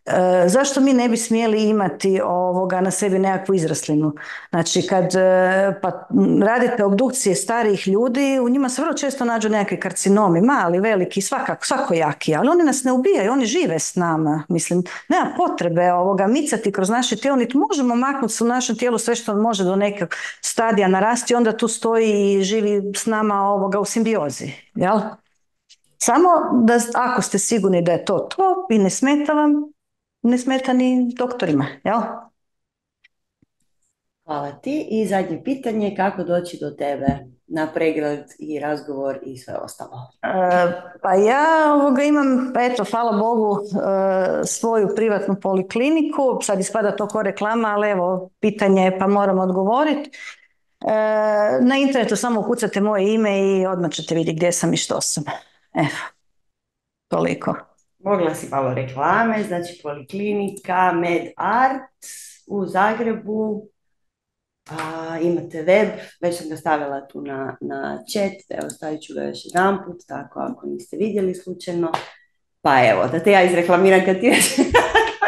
E, zašto mi ne bi smjeli imati ovoga na sebi nekakvu izraslinu? Znači, kad e, pa, m, radite obdukcije starijih ljudi, u njima se vrlo često nađu nekakvi karcinomi, mali, veliki, svakako, svakojaki, ali oni nas ne ubijaju, oni žive s nama. Mislim, nema potrebe ovoga micati kroz naše tijelo, niti možemo maknuti u našem tijelu sve što može do nekog stadija narasti, onda tu stoji i živi s nama ovoga u simbiozi, jel? Samo da ako ste sigurni da je to to i ne smeta vam, ne smeta ni doktorima, jel? Hvala ti. I zadnje pitanje, kako doći do tebe na pregled i razgovor i sve ostalo? E, pa ja ovoga imam, eto, hvala Bogu, e, svoju privatnu polikliniku, sad ispada to ko reklama, ali evo, pitanje je pa moram odgovoriti. E, na internetu samo ukucate moje ime i odmah ćete vidjeti gdje sam i što sam. Evo, toliko. Mogla si malo reklame, znači Poliklinika MedArt u Zagrebu. A, imate web, već sam ga stavila tu na, na chat, evo stavit ću ga još jedan put, tako ako niste vidjeli slučajno. Pa evo, da te ja izreklamiram kad ti reći,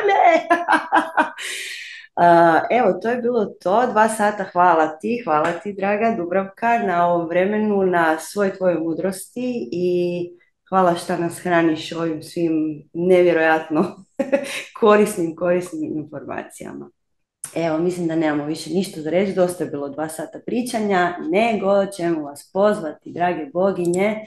ne. Uh, evo, to je bilo to, dva sata, hvala ti, hvala ti, draga Dubravka, na ovom vremenu, na svoj tvojoj mudrosti i hvala što nas hraniš ovim svim nevjerojatno korisnim, korisnim informacijama. Evo, mislim da nemamo više ništa za reći, dosta je bilo dva sata pričanja, nego ćemo vas pozvati, drage boginje,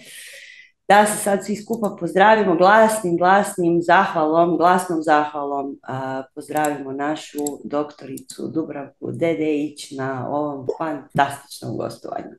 da se sad svi skupa pozdravimo glasnim, glasnim zahvalom, glasnom zahvalom, a, pozdravimo našu doktoricu Dubravku Dedeić na ovom fantastičnom gostovanju.